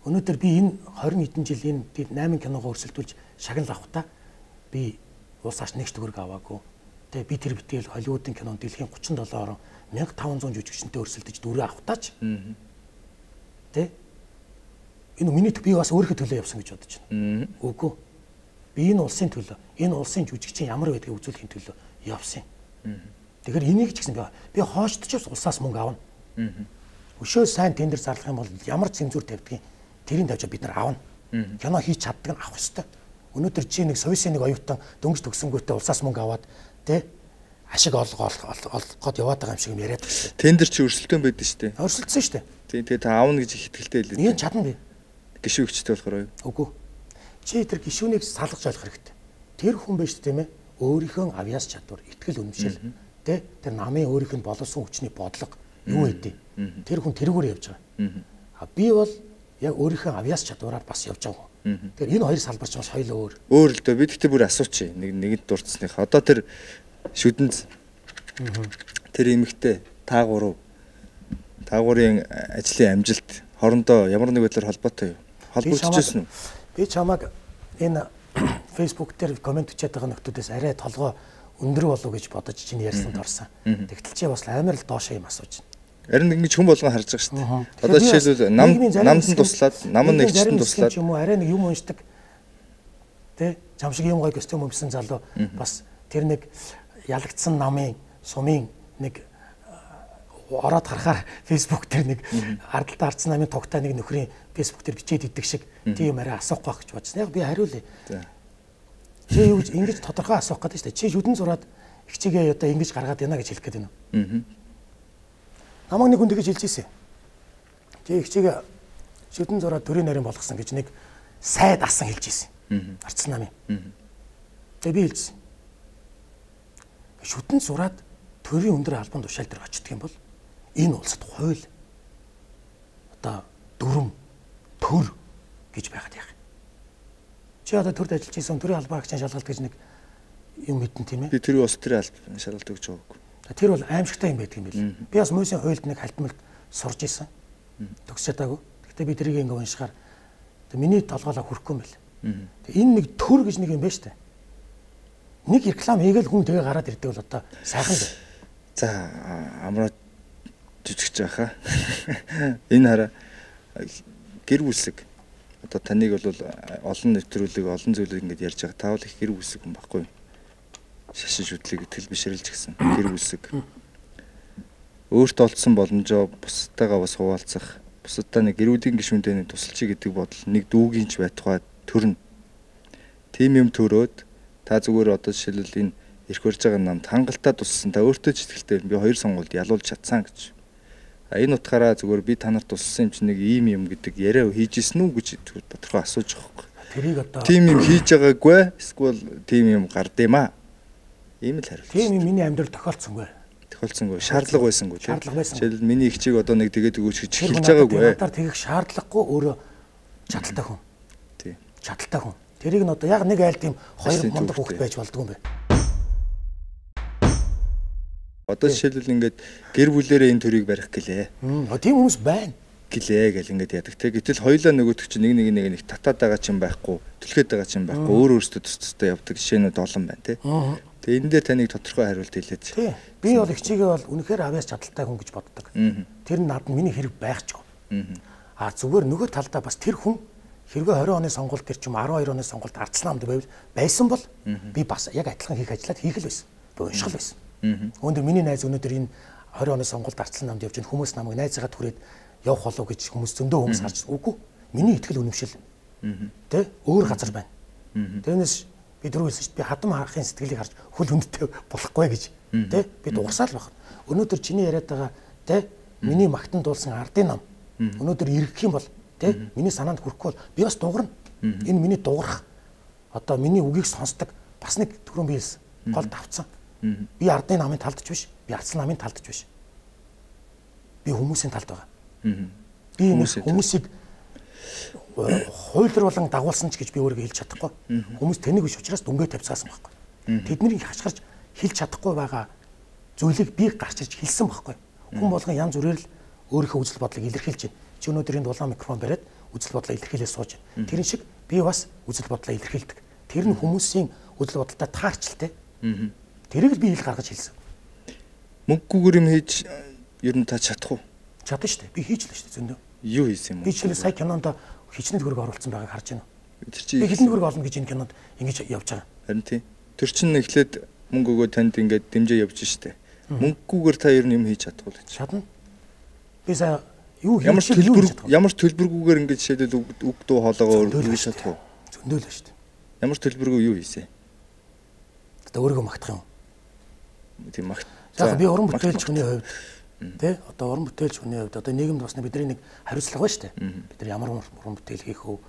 Өнөөдөр би энэ 20 хэдэн жил энэ 8 киногоо өрсөлдүүлж шагнал авахдаа би улсаас нэгч төгрөг аваагүй. Тэгээ би тэр битэл Холливуудын кинонд дэлхийн 37 орон 1500 жүжигчнтэй өрсөлдөж дүрээ авахтаач. Тэ? Энэ миний би бас өөрийнхөө төлөө явсан гэж бодож байна. Үгүй. Би энэ улсын төлөө, энэ улсын жүжигчин ямар байдгийг үзүүлэхийн төлөө явсан. Тэгэхээр энийг ч гэсэн би хоочдож улсаас мөнгө авна. Өшөө сайн тендер зарлах юм бол ямар цензур тавьдгийг тэрийг тавьж бид нар авна. Кино хийж чаддаг нь авах ёстой. Өнөөдөр чи нэг Совисын нэг оюутан дөнгөж төгсөнгүүтээ улсаас мөнгө аваад тэ ашиг олгоод яваад байгаа юм шиг юм яриад байна. Тендер чи өрсөлдөөн байдаг шүү дээ. Өрсөлдсөн шүү дээ. Тэгээ та аавна гэж их итгэлтэй хэлээ. Нэг чадна би. Гишүүгчтэй болохоор юу? Үгүй. Чи тэр гишүүнийг салгаж ойлгох хэрэгтэй. Тэр хүн биш тийм ээ. Өөрийнхөө авьяас чадвар, итгэл үнэмшил тэ тэр намын өөрийнх нь боловсон хүчний бодлого юу гэдэг. Тэр хүн тэрүүгээр явж байгаа. А би бол яг өөрийнхөө авьяас чадвараар бас явж байгаа. Тэгэхээр энэ хоёр салбарч бас хоёул өөр. Өөр л дээ. Би тэгтээ бүр асууч. Нэгэд дурдсных. Одоо тэр шүдэнц тэр эмэгтэй та гурын ажлын амжилт хоорондоо ямар нэг байдлаар холбоотой юу? Холбогдчихсэн үү? Би чамайг энэ Facebook дээр комент бичээд байгаа нөхдүүдээс арай толгой өндөр болов гэж бодож чинь ярьсанд орсон. Тэгтэл чи бас амар л доошоо юм асууж байна. Харин ингэж хүн болгон харж байгаа шүү дээ. Одоо жишээлбэл намд нь туслаад, нам нь нэгчсэн туслаад юм уу арай нэг юм уншдаг. Тэ? Чам шиг юм гоё костюм өмсөн залуу бас тэр нэг ялагдсан намын сумын нэг ороод харахаар Facebook дээр нэг ардалтаа ардсан намын тугтай нэг нөхрийн Facebook дээр бичээд идэг шиг тийм арай асуухгүй байх гэж бодсон. Яг би хариулъя. Чи юу ингэж тодорхой асуух гэдэг шүү дээ. Чи шүдэн зураад ихчигээ одоо ингэж гаргаад яана гэж хэлэх гээд байна уу? Намайг нэг хүн тэгэж хэлж ирсэн. Чи ихчигээ шүдэн зураад төрийн нарийн болгосон гэж нэг сайд асан хэлж ирсэн. Ардсан намын. Тэгээ би хэлсэн. Шүдэн зураад төрийн өндөр албан тушаал дээр очдөг юм бол энэ улсад хууль одоо дүрм төр гэж байгаад яах. Чи одоо төрд ажиллаж исэн төрийн албан агчийн шалгалт гэж нэг юм мэдэн тийм ээ. Би тэрийг бас төрийн албан шалгалт гэж байгаагүй. Тэр бол аимшигтай юм байдаг юм бэл. Би бас мөсийн хуульд нэг хальтмалт сурж исэн. Төгсөж чадаагүй. Гэхдээ би тэрийг ингээ уншихаар миний толгоолоо хүрхгүй юм бэл. Энэ нэг төр гэж нэг юм байна шүү дээ. Нэг реклам хийгээл хүн тэгээ гараад ирдэг бол одоо сайхан л. За амраа жижигч байхаа. Энэ хараа гэр бүлсэг. Одоо таныг бол олон нэвтрүүлэг, олон зүйлийг ингэж ярьж байгаа. Таавал их гэр бүлсэг хүн байхгүй. Шашиж үтлэг итгэл бишрэлж гисэн гэр бүлсэг. Өөртөө олдсон боломжоо бусдаагаа бас хуваалцах, бусдаа нэг гэр бүлийн гишүүндээ тусалчий гэдэг бодол нэг дүүгийн ч байтугай төрнө. Тим юм төрөөд та зүгээр одоо жишээлбэл энэ ирэх барьж байгаа намд хангалттай туссан та өөртөө ч итгэлтэй би хоёр сонгуульд ялуулж чадсан гэж. Энэ утгаараа зүгээр би та нарт туссан юм чинь нэг ийм юм гэдэг яриа хийж исэн үү гэж тодорхой асууж байгаа юм. Тэрийг одоо тим юм хийж байгаагүй эсвэл тим юм гардыма. Ийм л хариулт. Тийм юм миний амьдрал тохиолдсонгүй. Тохиолдсонгүй. Шаардлага байсангүй тийм. Шаардлага байсан. Жишээлбэл миний ихчийг одоо нэг тэгээд өгөөч гэж хэлж байгаагүй. Надаар тэгэх шаардлагагүй өөрөө чадaltaй хүн. Тийм. Чадaltaй хүн. Тэрийг нь одоо яг нэг айл тийм хоёр мундаг хүүхэд байж болдгоо юм байна. Одоо жишээлбэл ингээд гэр бүлээрээ энэ төрийг барих гэлээ. Тийм хүмүүс байна. Гэлээ гэл ингээд яадаг те. Гэтэл хоёулаа нөгөөдөг чинь нэг татаад байгаа чинь байхгүй, түлхээд байгаа чинь байхгүй, өөр өөртөө тус тустай явдаг жишээнүүд олон байна те. Тэгээ энэ дээр таныг тодорхой хариулт хэлээд. Тий. Би бол ихчигээ бол үнэхээр авьяас чадaltaй хүн гэж боддог. Тэр нь надад миний хэрэг байхчгүй. А зүгээр нөгөө талдаа бас тэр хүн хэрвээ 20 оны сонгуульд тэр чим 12 оны сонгуульд ардсан намд байсан бол би бас яг адилхан хийх ажлаад хийх л байсан. Би уншгал байсан. Өнөөдөр миний найз өнөөдөр энэ 20 оны сонгуульд ардсан намд явж байгаа хүмүүс намайг найзаагаа түрээд явах болов гэж хүмүүс зөндөө хүмүүс харж үгүй. Миний итгэл үнэмшил. Тэ өөр газар байна. Тэрнээс би дөрөв хэлсэн шүү дээ. Би хадам харахын сэтгэлийг харж хөл хүндтэй болохгүй гэж. Тэ би дуурсаал байх. Өнөөдөр чиний яриад байгаа тэ миний магтан дуулсан ардын ном. Өнөөдөр ирэх юм бол тэ миний санаанд хүрэхгүй бол би бас дуурна. Энэ миний дуурах. Одоо миний үгийг сонсдог бас нэг төрөн би хэлсэн. Гол давцсан. Би ардын намын талдч биш. Би ардсан намын талдч биш. Би хүмүүсийн талд байгаа. Би хүмүүсийг хуйлар болон дагуулсан ч гэж би өөрийгөө хэлж чадахгүй. Хүмүүс тэнийг биш учраас дүнгээ тавьцаасан байхгүй. Тэднийг хашгирч хэлж чадахгүй байгаа зүйлийг би гарч ирж хэлсэн байхгүй. Хүн болгон янз бүрээр л өөрийнхөө үзэл бодлыг илэрхийлж байна. Чи өнөөдөр энэ дулаан микрофон бариад үзэл бодлоо илэрхийлээ сууж байна. Тэрэн шиг би бас үзэл бодлоо илэрхийлдэг. Тэр нь хүмүүсийн үзэл бодолтой таарчлалтай. Тэрийг л би ил гаргаж хэлсэн. Мөнгөгүйгээр юм хийж ер нь та чадах уу? Чадна шүү дээ. Би хийж л шүү дээ зөндөө. Юу хийсэн юм бэ? Би жишээлбэл сая кинонд хичнээн төгрөг оруулсан байгааг харж байна. Тэр чи би хилэн төгрөг олно гэж энэ кинонд ингэж явж байгаа. Харин тийм. Тэр чинь эхлээд мөнгө өгөө танд ингээд дэмжээ явж штэ. Мөнгөгүйгээр та ер нь юм хийж чадах уу гэж. Чадна. Би сая юу ямар төлбөргүйгээр ингээд жишээлбэл үг дуу хоолоогоо хийж чадах уу? Зөндөөл шүү дээ. Ямар төлбөргүй юу хийсэн? Одоо өөрийгөө магтах юм. Тийм магт. За би уран бүтээлч хүний хувьд тэ одоо уран бүтээлч хүний хувьд одоо нийгэмд бас бидний нэг хариуцлага байна шүү дээ. Бид нар ямар уран бүтээл хийх вэ?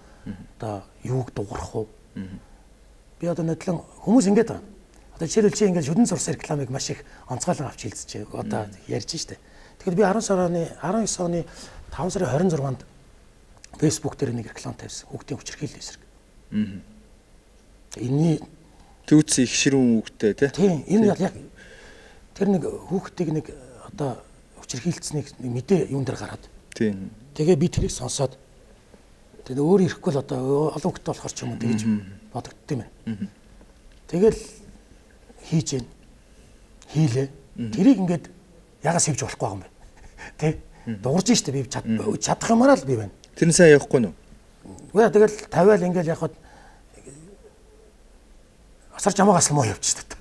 Одоо юуг дуурах вэ? Би одоо нэтлэн хүмүүс ингэж байгаа. Одоо жишээлбэл чи ингэж шүдэн зурсан рекламыг маш их онцгойлон авч хэлцэж одоо ярьж штэ. Тэгэхээр би 19 оны 5 сарын 26-нд Facebook дээр нэг реклам тавьсан. Хүүхдийн хүчирхийлэл эсрэг. Энэний төвц их ширүүн хүүхдтэй тийм энэ яг тэр нэг хүүхдийг нэг одоо хүчирхийлцнийг мэдээ юун дээр гараад. Тийм. Тэгээ би тэрийг сонсоод тэгээ өөр ирэхгүй л одоо олон хүүхдтэй болохоор ч юм уу тэгэж бодогдсон юм байна. Тэгэл хийж гэн хийлээ. Тэрийг ингээд ягаас хийвч болохгүй юм байна. Тэ? Дуурж штэ би чадах юмараа л би байна. Тэр нь сайн явахгүй нү? Үгүй тэгэл тавиал ингээд яхад асар жамаагаас л муу явчихсан та.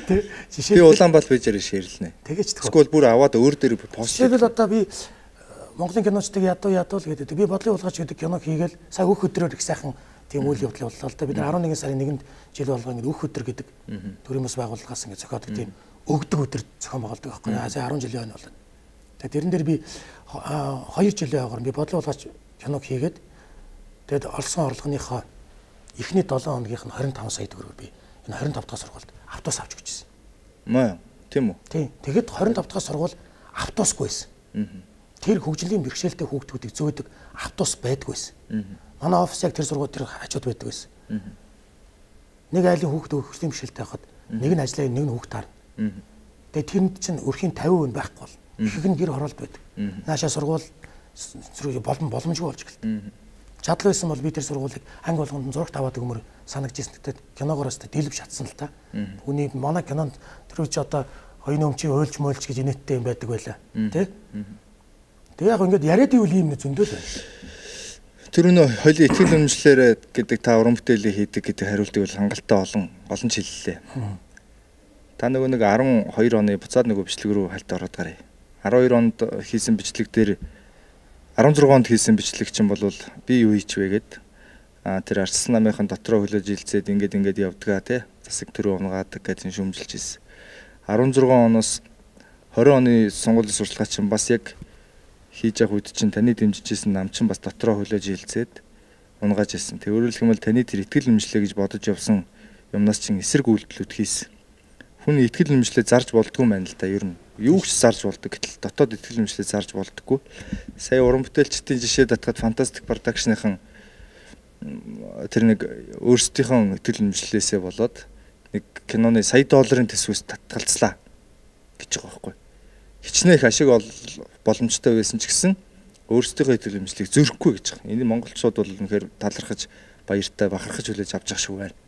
Тэ? Би Улаанбаатар пэйжээр шеэрлэнэ. Тэгэж төгөө. Скол бүр аваад өөр дээр пост. Жишээлбэл одоо би Монголын киночдыг ядуу гэдэг. Би бодлын улгаач гэдэг кино хийгээл сая өөх өдрөөр их сайхан тийм үйл явдал боллоо л да. Бид 11 сарын 1-нд жил болгоо ингээд өөх өдөр гэдэг төрийн бас байгууллагаас ингээд зохиодог тийм өгдөг өдөр зохион байгуулдаг байхгүй. Сая 10 жилийн хойно болоод. Тэгээд тэрэн дээр би 2 жилийн хойгоор би бодлын улгаач киног хийгээд тэгээд олсон орлогынхоо эхний 7 хоногийнх нь 25 сая төгрөг би энэ 25 дахь сургуульд автобус авч өгчээсэн. Маа тийм үү? Тийм. Тэгэхэд 25 дахь сургууль автобусгүй байсан. Тэр хөгжлийн бэрхшээлтэй хүүхдүүдийг зөөдөг автобус байдгүй байсан. Манай офис яг тэр сургууль тэр хажууд байдаг байсан. Нэг айлын хүүхд хөгжлийн бэрхшээлтэй байхад нэг нь ажиллаа нэг нь хүүхд таарна. Тэгээ тэрэнд чинь өрхийн 50% байхгүй бол их нь гэр хороолт байдаг. Наашаа сургууль боломжгүй болж гэлээ. Чадал байсан бол би тэр сургуулийг анги болгонд зурагт аваад өгмөр санагдчихсэн. Тэгтээ киногоороос дэлб шатсан л та. Хүний манай кинонд тэр үчи одоо хоёрын өмчийн уйлж мөйлж гэж инээдтэй юм байдаг байлаа. Тэ? Тэгээ яг ингээд яриад ивэл юм зөндөө л байна. Тэр өнөө хоёлын итгэл үнэмшлэрээ гэдэг та уран бүтээлээ хийдэг гэдэг хариултыг бол хангалттай олон ч хэллээ. Та нөгөө нэг 12 оны буцаад нөгөө бичлэг рүү хальт ороод гарыг. 12 онд хийсэн бичлэг дээр 16 онд хийсэн бичлэг чинь бол би юу хийчвэ гэд тэр Арслан намынхан дотроо хөлөөж хилцээд ингээд явдгаа тий засаг төрөө унгаадаг гэсэн шүүмжилж ирсэн. 16 оноос 20 оны сонгуулийн сурталчилгаа чинь бас яг хийж явах үед чинь таны дэмжижсэн нам чинь бас дотроо хөлөөж хилцээд унгааж ирсэн. Тэг өөрөөр хэлбэл таны тэр итгэл үнэмшлээ гэж бодож явсан юмнаас чинь эсрэг үйлдэлүүд хийсэн. Хүн итгэл үнэмшлээ зарж болдгүй юм байна л да ер нь. Юу ч зарж болдог гэтэл дотоод итгэл үнэмшлээ зарж болдоггүй. Сая уран бүтээлчдийн жишээ татгаад Fantastic Production-ийн тэр нэг өөрсдийнхөө итгэл үнэмшлээсээ болоод нэг киноны сая долларын төсвөөс татгалцлаа гэж байгаа байхгүй. Хичнээн их ашиг боломжтой байсан ч гэсэн өөрсдийнхөө итгэл үнэмшлийг зөрөхгүй гэж байгаа. Энэ монголчууд бол үнэхээр талархаж баяртай бахархаж хүлээж авч явах шиг байна.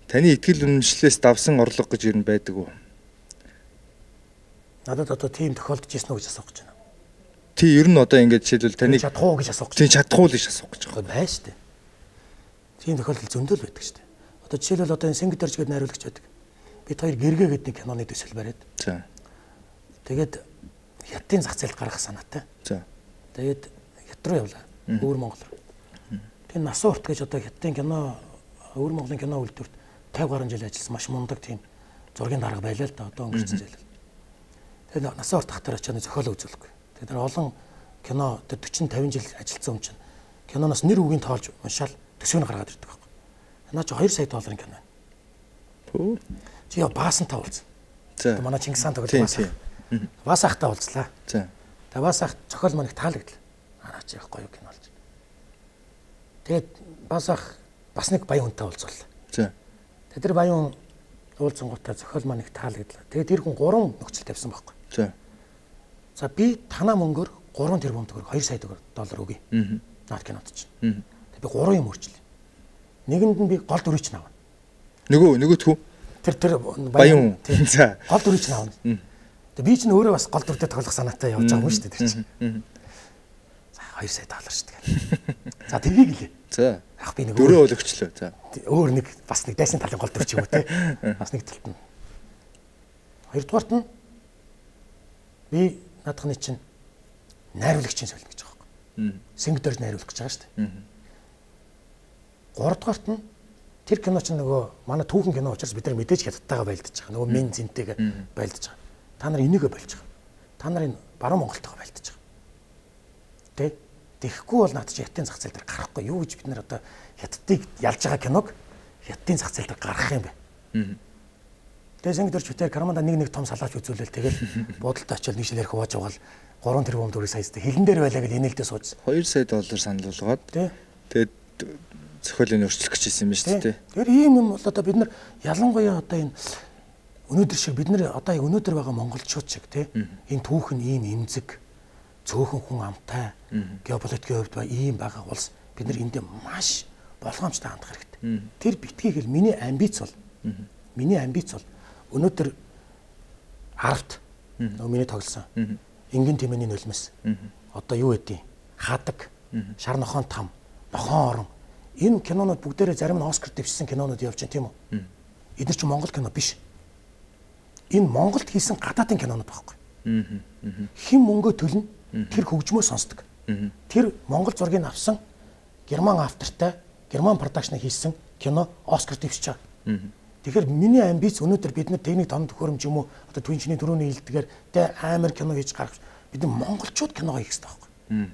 Таны итгэл үнэмшлээс давсан орлого гэж юу байдаг уу? Надад одоо тийм тохиолдож ирсэн үү гэж асуух гэж байна. Тий, ер нь одоо ингэж жишээлбэл таны чадах уу гэж асуух гэж. Тий, чадах уу гэж асуух гэж байгаа. Байна шүү дээ. Тийм тохиолдол зөндөл байдаг шүү дээ. Одоо жишээлбэл одоо энэ Сингл дөрж гэдэг найруулагч байдаг. Бид хоёр гэргээ гэдэг нэг киноны төсөл бариад. За. Тэгээд хятадын зах зээлд гаргах санаатай. За. Тэгээд хят руу явлаа. Өвөр Монгол руу. Тэгээд Насуурт гэж одоо хятадын кино Өвөр Монголын кино үйлдвэрт 50 гаруй жил ажилласан маш мундаг тийм зургийн дарга байлаа л да одоо өнгөрсөн жил. Тэгээд Насуурт хатар очиад зохиолоо үзүүлэхгүй. Тэгээд олон кино 40 50 жил ажилласан юм чинь киноноос нэр үгийн тоолж уншаал төсвийг гаргаад ирдэг байхгүй. Наа чи 2 сая долларын кино байна. Хөө. Чи яа Баасантай уулзсан. За. Манай Чингис хаан тоглож Баасаа. Баасахтай уулзлаа. За. Тэгээд Баасах зохиол маань их таалагдлаа. Араа чи их гоё кино болж. Тэгээд Баасах бас нэг баян хүнтэй уулзвал. За. Тэгээд тэр баян уулзсангуудаа зохиол маань их таалагдлаа. Тэгээд тэр хүн 3 нөхцөл тавьсан байхгүй. За. За би танаа мөнгөөр 3 тэрбум төгрөг 2 сая доллар өгье. Наад кинод чинь. Тэгээд би 3 юм өөрчлөе. Нэгэнд нь би гол дүрийг чинь авна. Нөгөөтгүү. Тэр баян. За. Гол дүрийг чинь авна. Тэгээд би чинь өөрөө бас гол дүртэй тоглох санаатай явж байгаа юм шүү дээ тэр чинь. За 2 сая доллар шүү дээ. За тэргийг гэлээ. За. Яг би нэг дөрөв өгчлөө. За. Өөр нэг бас нэг дайсан талын гол дүр ч юм уу те. Бас нэг талт нь. Хоёрдугаарт нь би наадхны чинь найруулагчийн солино гэж байгаа байхгүй. Сингдэрж найруулах гэж байгаа шүү дээ. Гуравдугаарт нь тэр кино чинь нөгөө манай түүхэн кино учраас бид нар мэдээж хятадтайгаа байлдаж байгаа. Нөгөө мен зинтэйгээ байлдаж байгаа. Та нар энийгээ болж байгаа. Та нарын баруун Монголтойгоо байлдаж байгаа. Тэ? Тэгэхгүй бол наад чи хятадын зах зээл дээр гарахгүй. Юу гэж бид нар одоо хятадыг ялж байгаа киног хятадын зах зээл дээр гаргах юм бэ? Тэгээ Сингдэрж битээр Карманда нэг том салаач үзүүлэл тэгэл буудалтай очиод нэг шилээр хувааж угаал 3 тэрбум төгрөг саястай хилэн дээр байлаа гэж инээлдээ сууж. 2 сая доллар санал болгоод. Тэгээд зохиолыг өөрчлөх гэж хэлсэн юм байна шүү дээ. Тэгэхээр ийм юм бол одоо бид нар ялангуяа одоо энэ өнөөдөр шиг бид нар одоо яг өнөөдөр байгаа монголчууд шиг тий энэ түүхэн ийм эмзэг цөөхөн хүн амтай геополитикийн хувьд ба ийм байгаа улс бид нар эндээ маш болгоомжтой хандах хэрэгтэй. Тэр битгий хэл миний амбиц бол өнөөдөр арт нөгөө миний тоглосон энгийн тэмээний нулимс одоо юу гэдэг хадаг шар нохоон там нохоон орон энэ кинонууд бүгдээрээ зарим нь Оскар дэвшсэн кинонууд явж байна тийм үү? Эдгээр чинь Монгол кино биш. Энэ Монголд хийсэн гадаадын кинонууд байхгүй. Хэн мөнгөө төлнө тэр хөгжмөө сонсдог. Тэр Монгол зургийг авсан герман автортай герман продакшн хийсэн кино Оскар дэвшиж байгаа. Тэгэхээр миний амбиц өнөөдөр бид нар техник тоног төхөөрөмж юм уу одоо түнчний төрөний хилдгээр тэ амар кино хийж гаргах бид нар монголчууд кино хийх хэрэгтэй байхгүй.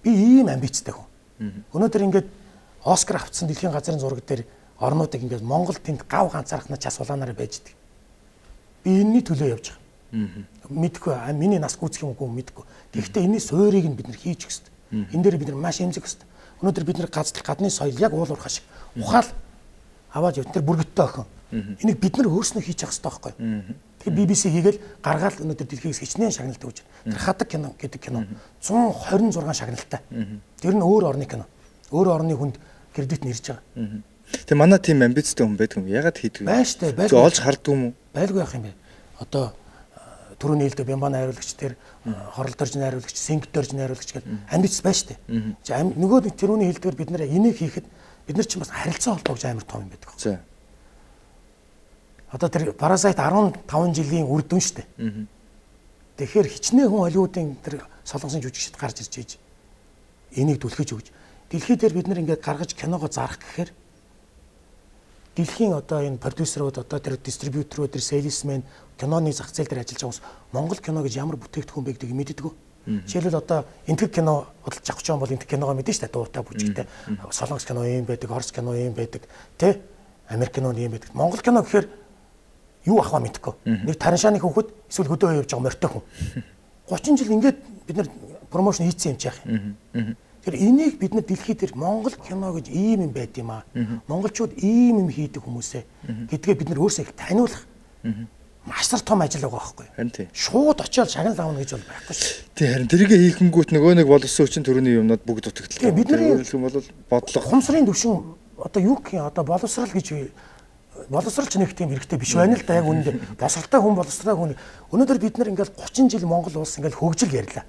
Би ийм амбицтай хүн. Өнөөдөр ингээд Оскар авцсан дэлхийн газрын зураг дээр орнуудыг ингээд Монгол тэнд гав ганцаархнаа час улаанаараа байж идэг. Би энэний төлөө явж байгаа. Мэдгүй миний нас гүйцэх юм уу мэдгүй. Гэхдээ энэний суурийг нь бид нар хийж өгс. Энэ дээр бид нар маш эмзэг өст. Өнөөдөр бид нар гадны соёл яг уул уурхай шиг ухаал аваад явт тэр бүргэдтэй охин. Энийг бид нар өөрснөө хийж явах хэрэгтэй байхгүй. Тэгээ BBC хийгээл гаргаал өнөөдөр дэлхийгээс хичнээн шагналтай үүж. Тэр хадаг кино гэдэг кино 126 шагналтай. Тэр нь өөр орны кино. Өөр орны хүнд кредит нэрж байгаа. Тэгээ манай тим амбицтай хүн байдаг юм. Ягаад хийдэг вэ? Байж тээ, байлгүй. Олж харддаг юм уу? Байлгүй яах юм бэ? Одоо түрүүний хэлдэг Бямбан найруулагч тэр хоролдорж найруулагч, Сингдэрж найруулагч гэл амбиц байж тээ. Нөгөө түрүүний хэлдгээр бид нэр энийг хийхэд бид нар ч бас харилцаа холбоогч амар том юм байдаг. За. Одоо тэр Parasite 15 жилийн үр дүн шүү дээ. Тэгэхээр хичнээн хүн Холливуудын тэр солонгосын жүжигчд гарч ирж ийж энийг түлхэж өгч дэлхий дээр бид нар ингээд гаргаж киногоо зарах гэхээр дэлхийн одоо энэ продюсерууд одоо тэр дистрибьюторууд тэр сейлсмен киноны зах зээл дээр ажиллаж байгаа хүмүүс Монгол кино гэж ямар бүтээгдэхүүн бэ гэдгийг мэддэг. Жишээлбэл одоо энтэг кино бодлож авах ч юм бол энтэг киногоо мэдэн шүү дээ дуутай бүжигтэй. Солонгос кино юм байдаг, Орос кино юм байдаг, тэ Америк кино юм байдаг. Монгол кино гэхээр юу ахваа мэдэхгүй. Нэг тараншааны хүүхэд эсвэл хөдөө явж байгаа морьтой хүн. 30 жил ингээд бид нар промошн хийцэн юм чи яах юм. Тэр энийг бид нар дэлхий дээр Монгол кино гэж ийм юм байд юм аа. Монголчууд ийм юм хийдэг хүмүүсээ гэдгээ бид нар өөрсдөө их таниулах. Маш том ажил байгаа байхгүй. Харин тийм. Шууд очиод шагнал авна гэж бол байхгүй шүү. Тийм харин тэрийг хийхэнгүүт нөгөө нэг боловсон хүчин төрөний юмнууд бүгд дутагдaltaа. Бид нар бол бодлого хумсрын төвшин одоо юу гэх юм одоо боловсрал гэж боловсралч нэг тийм хэрэгтэй биш байна л да яг үнэндээ босралтай хүн боловсралтай хүн өнөөдөр бид нар ингээл 30 жил Монгол улс ингээл хөгжил ярьлаа.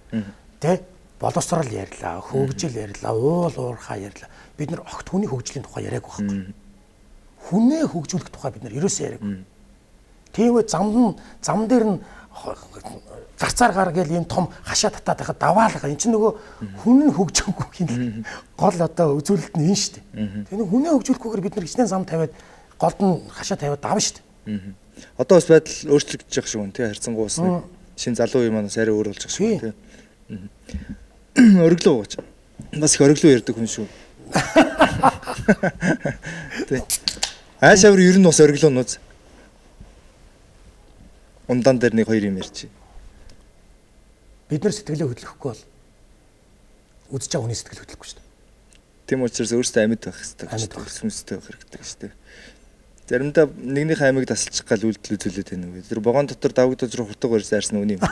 Тэ? Боловсрал ярьлаа, хөгжил ярьлаа, уул уурхай ярьлаа. Бид нар огт хүний хөгжлийн тухай яриаг байхгүй. Хүнээ хөгжүүлэх тухай бид нар ерөөсөө яриаг. Тийм үү зам дээр нь гарцаар гар гээл ийм том хашаа татаад байхад даваалга. Энд чинь нөгөө хүн нь хөгжөөгүй хин гол одоо үзүүлэлт нь энэ шүү дээ. Тэгээ нэг хүнээ хөгжүүлэхгүйгээр бид нар хичнээн зам тавиад голд нь хашаа тавиад давна шүү дээ. Одоо бас байдал өөрчлөгдөж байгаа шүү тий харьцангуй бас нэг шинэ залуу юм манаас арай өөр болж байгаа шүү тий. Ориглоо ууч. Бас их ориглоо ярьдаг хүн шүү. Тий. Аашавар ер нь бас ориглоо нууц. Ундаан дээр нэг хоёр юм ярьчих. Бид нар сэтгэлээ хөдлөхгүй бол үзэж байгаа хүний сэтгэл хөдлөхгүй шүү дээ. Тийм учраас өөрөөсөө амьд байх хэрэгтэй. Сүнстэй байх хэрэгтэй шүү дээ. Заримдаа нэгнийхээ амийг тасалчих гал үйлдэл үзүүлээд байна уу. Тэр богоон дотор давагдаж руу хурдаг барьсан арьсан үний юм.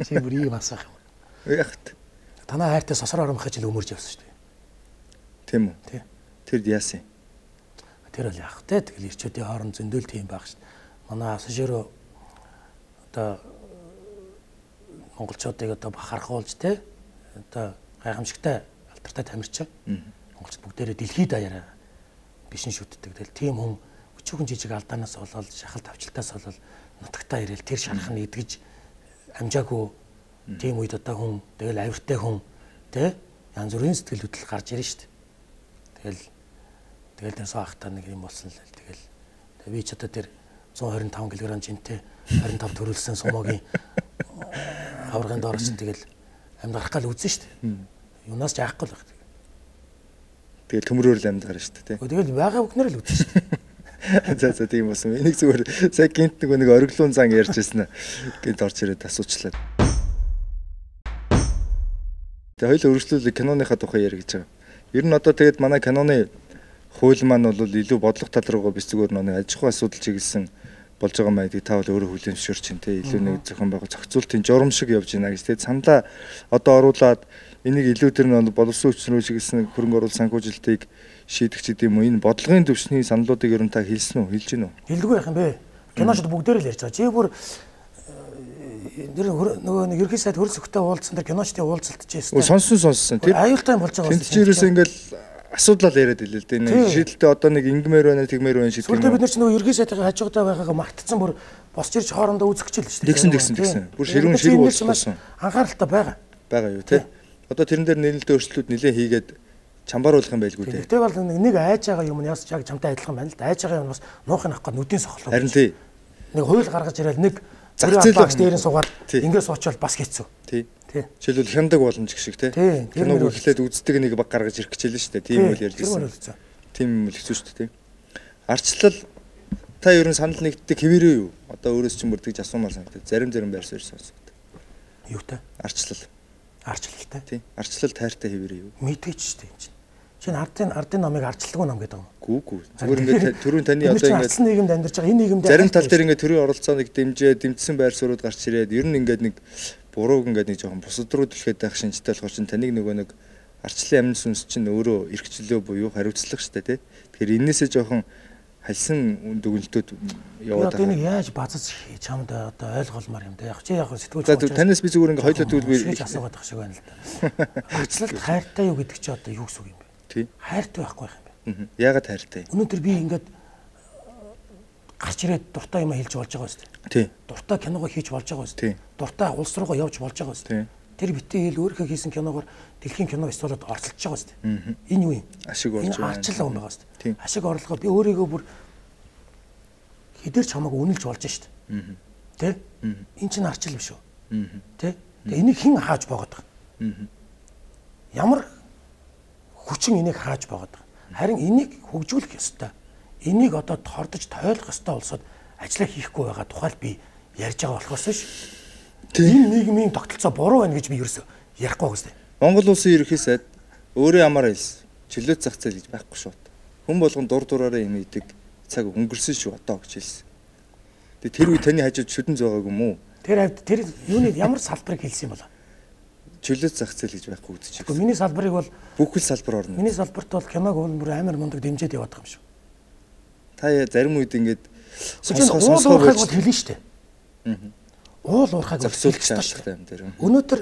Чи бүр ийм асах юм. Яахт. Танаа хайртай сосроо оромхож ил өмөрж явсан шүү дээ. Тийм үү? Тий. Тэр яасан? Тэр л яах вэ? Тэгэл ирчүүдийн хооронд зөндөл тийм байх шүү дээ. Манай пассажироо одоо монголчуудыг одоо бахархуулж те одоо гайхамшигтай алдартай тамирчаа монголчууд бүгдээрээ дэлхийд даяараа бишин шүтдэг. Тэгэл тийм хүн өчүүхэн жижиг алдаанаас болоод шахал тавчлалтаас болоод нутагтаа ирээл тэр шарах нь идгэж амжаагүй тийм үед одоо хүн тэгэл авиртай хүн те янз бүрийн сэтгэл хөдлөл гарч ирнэ шүү дээ. Тэгэл тэр саахтаа нэг юм болсон л тэгэл би ч одоо тэр 125 кг жинтэй 25 төрүүлсэн сумогийн аваргын доороос тэгэл амьд гарах гал үзэн шүү дээ. Юунаас ч яахгүй л байх. Тэгэл төмрөөр л амьд гарна шүү дээ. Тэгэл байгаа бүхнэр л үзэн шүү дээ. За тийм болсон. Энийг зүгээр сая гинт нэг ориглуун зан ярьж ирсэн гинт орж ирээд асуучлаа. Тэгээ хоёул өргөжлөл киноныхаа тухай ярих гэж байгаа. Ер нь одоо тэгээд манай киноны хууль маань бол илүү бодлого тал руугаа биш зүгээр нэг аж ахуй асуудал чиглэсэн болж байгаа маягыг та бол өөрөө хүлээмжшөөрч чинь те илүү нэг зохион байгуулалт зохицуултын журам шиг явж байна гэж те саналаа одоо оруулаад энийг илүү тэр нь боловсон хүчнүү чиглэсэн хөрөнгө оруулалт санхүүжилтийг шийдэх ч гэдэм үү энэ бодлогын төвшний саналуудыг ер нь та хэлсэн үү хэлж гинөө хэлдэггүй яах юм бэ киночд бүгдээр л ярьж байгаа чи бүр нөгөө нэг ерхий сайд хөрөлсөхтэй уулзсан тэр киночдын уулзалтж байсан сонссон тэр аюултай болж байгаа юм чинь ингээл асуудлал яриад хэлээ л дээ. Нэг шийдэлтэй одоо нэг ингэмээр байна, тэгмээр байна шийдэх юм. Тэгвэл бид нар ч нөгөө ерхий сайтын хажуутай байгаагаа мартцсан бүр босч ирж хоорондоо үзэх гэж л шүү дээ. Тэгсэн. Бүр ширүүн болсон. Анхааралтай байгаа. Байгаа юу те. Одоо тэрэн дээр нэлээд өөрчлөлтүүд нэлээд хийгээд чамбааруулах юм байлгүй те. Тэгтээ бол нэг айж байгаа юм нь яс яг чамтай адилхан байна л да. Айж байгаа юм бас нуухын авах гээд нүдийн сохлоо. Харин тий. Нэг хууль гаргаж ирэл нэг зах зээл багш дээрээ суугаад ингээд суучвал бас хэцүү. Тий. Жишээлбэл хяндаг боломж гэх шиг те. Киног үзлээд үздэг нэг баг гаргаж ирэх гэж хэлнэ шүү дээ. Тийм үйл ярьж ирсэн. Тийм юм л хэцүү шүү дээ. Арчлал та ер нь санал нэгддэг хэвээрээ юу? Одоо өөрөөс чинь бүрдгэж асуумаар санагдав. Зарим байр суурь сонсогддог. Юутай? Арчлал. Арчлалтай. Тийм. Арчлал тайртай хэвээрээ юу? Мэдээч шүү дээ энэ. Чинь ардын номыг ардчилгүй ном гэдэг юм. Гүү. Зүгээр ингээд төрийн таны одоо ингээд ардсан нийгэмд амьдарч байгаа энэ нийгэмд зарим тал дээр ингээд төрийн оролцооныг дэмжсэн байр суурьуд гарч ирээд ер нь ингээд нэг бурууг ингээд нэг жоохон бусад руу түлхээд байх шинжтэй болохоор чинь таныг нөгөө нэг арчлалын амин сүнс чинь өөрөө эрхчлөө буюу хариуцлага штэ тий. Тэгэхээр энээсээ жоохон халсан дүгнэлтүүд яваад байгаа. Одоо энийг яаж базаж чамд одоо ойлгуулмаар юм да. Яг чи яг сэтгүүл. За танаас би зүгээр ингээд хоёлоо тэгвэл би асуугаад байх шиг байна л да. Арчлалт хайртай юу гэдэг чи одоо юу гэсэн үг юм бэ? Тий. Хайртай байхгүй байх юм бэ? Яагаад хайртай? Өнөөдөр би ингээд гарч ирээд дуртай юм хэлж болж байгаа үст. Тий. Дуртай киногоо хийж болж байгаа үст. Тий. Дуртай улс руугаа явж болж байгаа үст. Тэр битээ хэл өөрийнхөө хийсэн киногоор дэлхийн кино фестивалд оролцож байгаа үст. Энэ юу юм? Ашиг орж байна. Арчлал юм байгаа үст. Ашиг орлогоо би өөрийгөө бүр хэдэрч хамаагүй үнэлж болж шít. Тэ? Энэ чинь арчлал биш үү? Тэ? Тэгээ энийг хэн хааж боогод байгаа? Ямар хүчин энийг хааж боогод байгаа? Харин энийг хөгжүүлэх ёстой. Энийг одоо тордож тойлох ёстой болсод ажиллаа хийхгүй байгаа тухайл би ярьж байгаа болохоос биш. Энэ нийгмийн тогтолцоо буруу байна гэж би ерөөсөө ярихгүй байгаа юм. Монгол улсын ерөнхий сайд өөрөө ямаар хэлсэн. Чөлөөт зах зээл гэж байхгүй шүү. Хүн болгон дур дураараа юм идэг цаг өнгөрсөн шүү одоо гэж хэлсэн. Тэгээ тэр үе таны хажууд шүдэн зөөгөөг юм уу? Тэр юуны ямар салбарыг хэлсэн юм бол? Чөлөөт зах зээл гэж байхгүй үзэж байна. Гэхдээ миний салбарыг бол бүхэл салбар орно. Миний салбарт бол киног бүр амар мундаг дэмжиж яваад байгаа юм шүү. Та зарим үед ингээд сонсгоо хэлнэ шүү дээ. Уул уурхайг зохицуулах шаардлагатай юм дээр. Өнөөдөр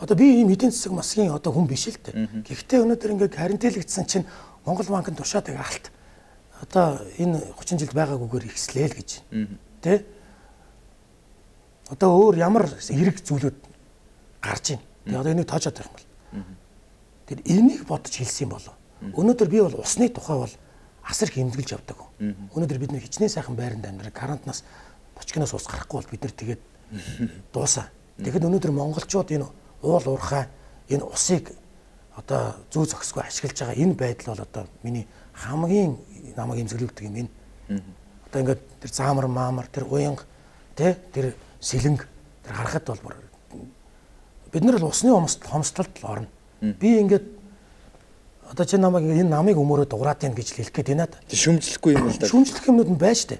одоо би ийм эдийн засаг масгийн одоо хүн биш л дээ. Гэхдээ өнөөдөр ингээд харинтэлэгдсэн чинь Монгол банкнд тушаад алт одоо энэ 30 жил байгаагүйгээр ихслээл гэж. Тэ? Одоо өөр ямар эрэг зүйлүүд гарч ийн. Тэгээ одоо энийг тоочоод байх юм бол. Тэр энийг бодож хэлсэн юм болоо. Өнөөдөр би бол усны тухай бол асар хэмнэлж явдаг. Өнөөдөр бид нэг хичнээн сайхан байранд амьдрах карантинаас бочкиноос ус гарахгүй бол бид нар тэгээд дуусаа. Тэгэхэд өнөөдөр монголчууд энэ уул уурхай энэ усыг одоо зүү зохисгүй ашиглаж байгаа энэ байдал бол одоо миний хамгийн намайг имзэглүүлдэг юм энэ. Одоо ингээд тэр заамар маамар тэр уянга тэр сэлэнг тэр харахад бол бид нар л усны хомсдолд орно. Би ингээд одоо чи намайг энэ намыг өмөрөө дуурайт юм гэж хэлэх гээд байна да. Шүмжлэхгүй юм л да. Шүмжлэх юмнууд нь байж тээ.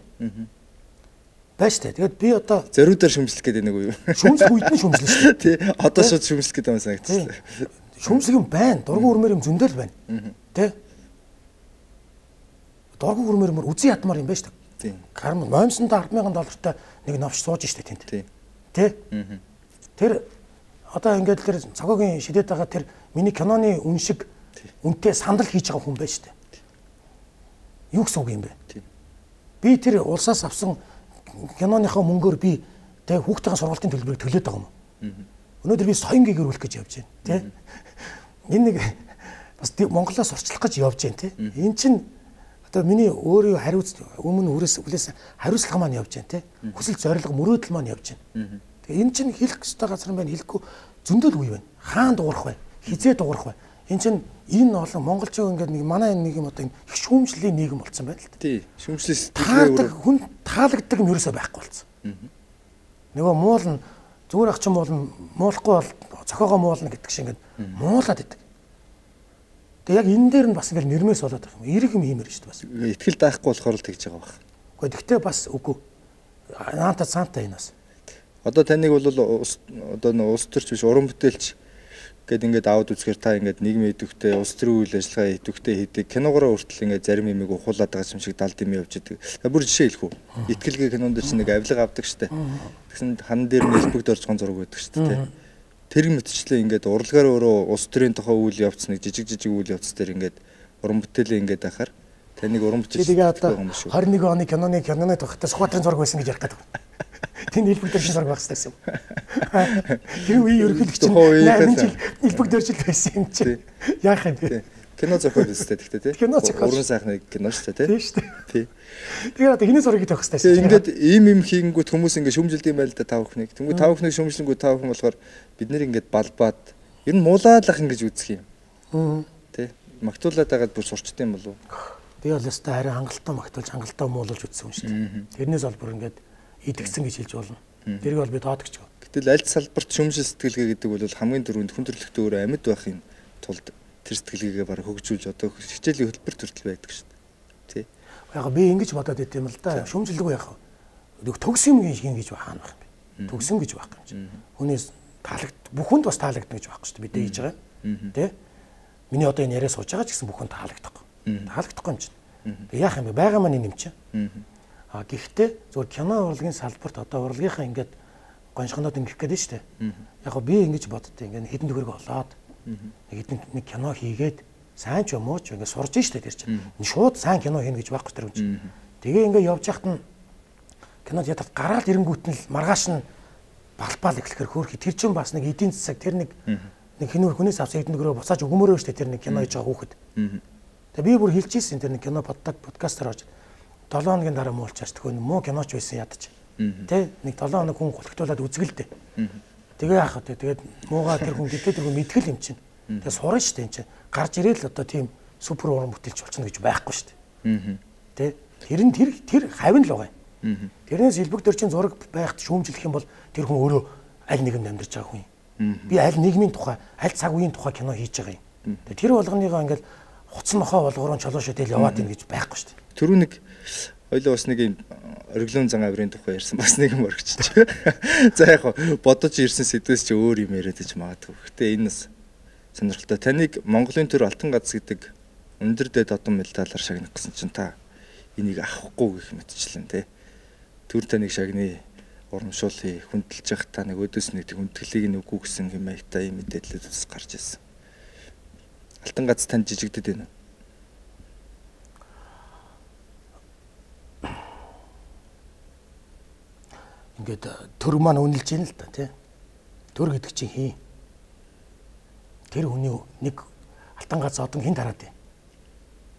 Байж тээ. Тэгээд би одоо зориудаар шүмжлэх гээд байна уу юу? Шүмжлэх үед нь шүмжлэх шүү дээ. Тий. Одоо шууд шүмжлэх гээд байгаа санагдчихлаа. Шүмжлэх юм байна. Дургу өрмөр юм зөндөл байна. Тэ? Дургу өрмөр үзэн ядмаар юм байна шүү дээ. Тий. Карм $800 $10,000 нэг новч сууж штэ тэнд. Тий. Тэ? Тэр одоо ингээд тэр цогогийн шидэт байгаа тэр миний киноны үн шиг үнтэй сандал хийж байгаа хүн байна штэ. Юу гэсэн үг юм бэ? Би тэр улсаас авсан киноныхоо мөнгөөр би тэг хүүхдийн сургалтын төлбөрийг төлөөд байгаа юм. Өнөөдөр би соён гээгэр үлэх гэж явж байна, тий? Энэ нэг бас Монголоос орчлох гэж явж байна, тий? Эн чинь одоо миний өөрийн өмнө үлээс хариуцлага маань явж байна, тий? Хүсэл зорилго мөрөөдөл маань явж байна. Тэгээ эн чинь хэлэх ёстой газар байна, хэлэхгүй зөндөл үе байна. Хаан дуурах бай, хизээ дуурах бай. Эн чинь энэ олон монголчууд ингээд нэг манай нэг юм одоо их шүүмжлэлийн нийгэм болсон байна л да. Тий. Шүүмжлээс хүн таалагддаг юм ерөөсөө байхгүй болсон. Нөгөө муул нь зүгээр ах чинь муулахгүй бол цохоогоо муулна гэдэг шиг ингээд муулаад идэг. Тэгээ яг энэ дээр нь бас ингээд нэрмээс болоод байгаа юм. Эрэг юм хиймээр шүү дээ бас. Итгэл даахгүй болохоор л тэгж байгаа баг. Гэхдээ тэгтээ бас үгүй. Наанта цаанта энэ бас. Одоо таныг бол одоо улс төрч биш уран бүтээлч гэд ингээд аваад үзэхээр та ингээд нийгмийн идэвхтэй улс төрийн үйл ажиллагаа идэвхтэй хийдэг киногороо хүртэл ингээд зарим юмыг ухуулаад байгаа юм шиг далд юм явж идэг. Бүр жишээ хэлэх үү? Итгэлгээ кинонд чинь нэг авилга авдаг штэ. Тэгсэн хан дээр нь элбэгд орж гон зураг байдаг штэ. Тэр мэтчлээ ингээд урлагаар өөрөө улс төрийн тухай үйл явц нэг жижиг үйл явц дээр ингээд уран бүтээлээ ингээд ахаар таныг уран бүтээлч гэдэг юм шүү. 21 оны киноны тухайтай Сүхбаатарын зураг байсан гэж ярих гэдэг. Тэнд элбэг дөржин зураг багс гэсэн юм. Тэр үе ерөнхийлөгч чинь 8 жил элбэг дөржил байсан юм чи. Яах юм бэ? Кино зохиол өстэй тэгтээ тий. Уран сайхны кино шүү дээ тий. Тий шүү дээ. Тэгэхээр одоо хиний зургийг тавих хэрэгтэй. Ингээд ийм хийнгүүт хүмүүс ингээд шүмжилдэг юм байл да тав өхнийг. Тэнгүү тав өхнийг шүмжлэнгүү тав өхөн болохоор бид нэр ингээд балбаад ер нь муулаалах ингэж үзэх юм. Тий. Магтуулаад байгаад бүр сурчт юм болов. Би бол ястаа харин хангалттай магтуулж хангалттай муулуулж үзсэн юм шүү дээ. Тэрнээс бол бүр ингээд идэгсэн гэж хэлж болно. Тэрийг бол би тоодогч. Гэтэл аль салбарт шүмжил сэтгэлгээ гэдэг бол хамгийн түрүүнд хүн төрөлхтөө өөрөө амьд байхын тулд тэр сэтгэлгээгээ бараг хөгжүүлж одоо хичээлийн хөтөлбөр төртөл байдаг шүү дээ. Тий. Яг би ингэж бодоод байт юм л да. Шүмжилдэггүй яах вэ? Төгсөн юм хийн гэж хаана байх юм бэ? Төгсөн гэж байхгүй юм чинь. Хүнээс бүхэнд бас таалагдана гэж байхгүй шүү дээ. Бид хийж байгаа юм. Тэ? Миний одоо энэ яриа сууж байгаа ч гэсэн бүхэнд таалагдахгүй. Таалагдахгүй юм чинь. Тэгээ яах юм бэ? Бага маань юм чинь. Гэхдээ зөвхөн кино урлагийн салбарт одоо урлагийнхаа ингээд гоншгоноод ингэх гээд нь шүү дээ. Яг го би ингэж боддоо ингээд хэдэн төгрөг олоод нэг кино хийгээд сайн ч юм уу ч ингээд сурж штэ тэр чинь. Шууд сайн кино хийнэ гэж байхгүй тэр юм чинь. Тэгээ ингээд явж яхад нь кинод ядаад гараал ирэнгүүт нь л маргааш нь балбаал эхлэхэр хөөрхи тэр чинь бас нэг эдийн засаг тэр нэг хинүүр хүнээс авсан хэдэн төгрөг буцааж өгмөрөө штэ тэр нэг кино хийж байгаа хүүхэд. Тэгээ би бүр хэлчихсэн тэр нэг кино подкастаар орж 7 хоногийн дараа муулчаач төхөө муу киноч байсан ядаж. Тэ нэг 7 хоног хүн гулхтуулаад үзгэлдэ. Тэгээ яах вэ? Тэгээд муугаа тэр хүн гэдэг тэр хүн мэдгэл юм чинь. Тэгээ сурна шүү дээ энэ чинь. Гарч ирээл одоо тийм супер уран бүтээлч болчихно гэж байхгүй шүү дээ. Тэ тэр хавь л байгаа юм. Тэрнээс элбэг дөрчин зураг байхад шүүмжлэх юм бол тэр хүн өөрөө аль нэгэн амьдарч байгаа хүн юм. Би аль нийгмийн тухай, аль цаг үеийн тухай кино хийж байгаа юм. Тэр болгоныгоо ингээл хуцсан нохоо болгоорон чолоошоо тэл яваад ийн гэж байхгүй шүү дээ. Түрүү нэг ойлоо бас нэг юм ориглон зан авирын тухай ярьсан бас нэг юм орчихчих. За яг бодож ирсэн сэдвээс чи өөр юм яриад иж магадгүй. Гэтэ энэ бас сонирхолтой. Таныг Монголын төр алтан гац гэдэг өндөр дэд одон медалаар шагнах гэсэн чинь та энийг авахгүй гэх мэтчлэн тий. Төр таныг шагны урамшуулъя хүндэлж явах та нэг өдөөс нэг хүндгэлийг нь үгүй гэсэн юм аятаа юм мэдээлэлүүд бас гарч ирсэн. Алтан гац танд жижигдэд байна уу? ингээд төр маань үнэлж ийн л да тий. Төр гэдэг чинь хий. Тэр хүний нэг алтан гац одон хин тараад байна.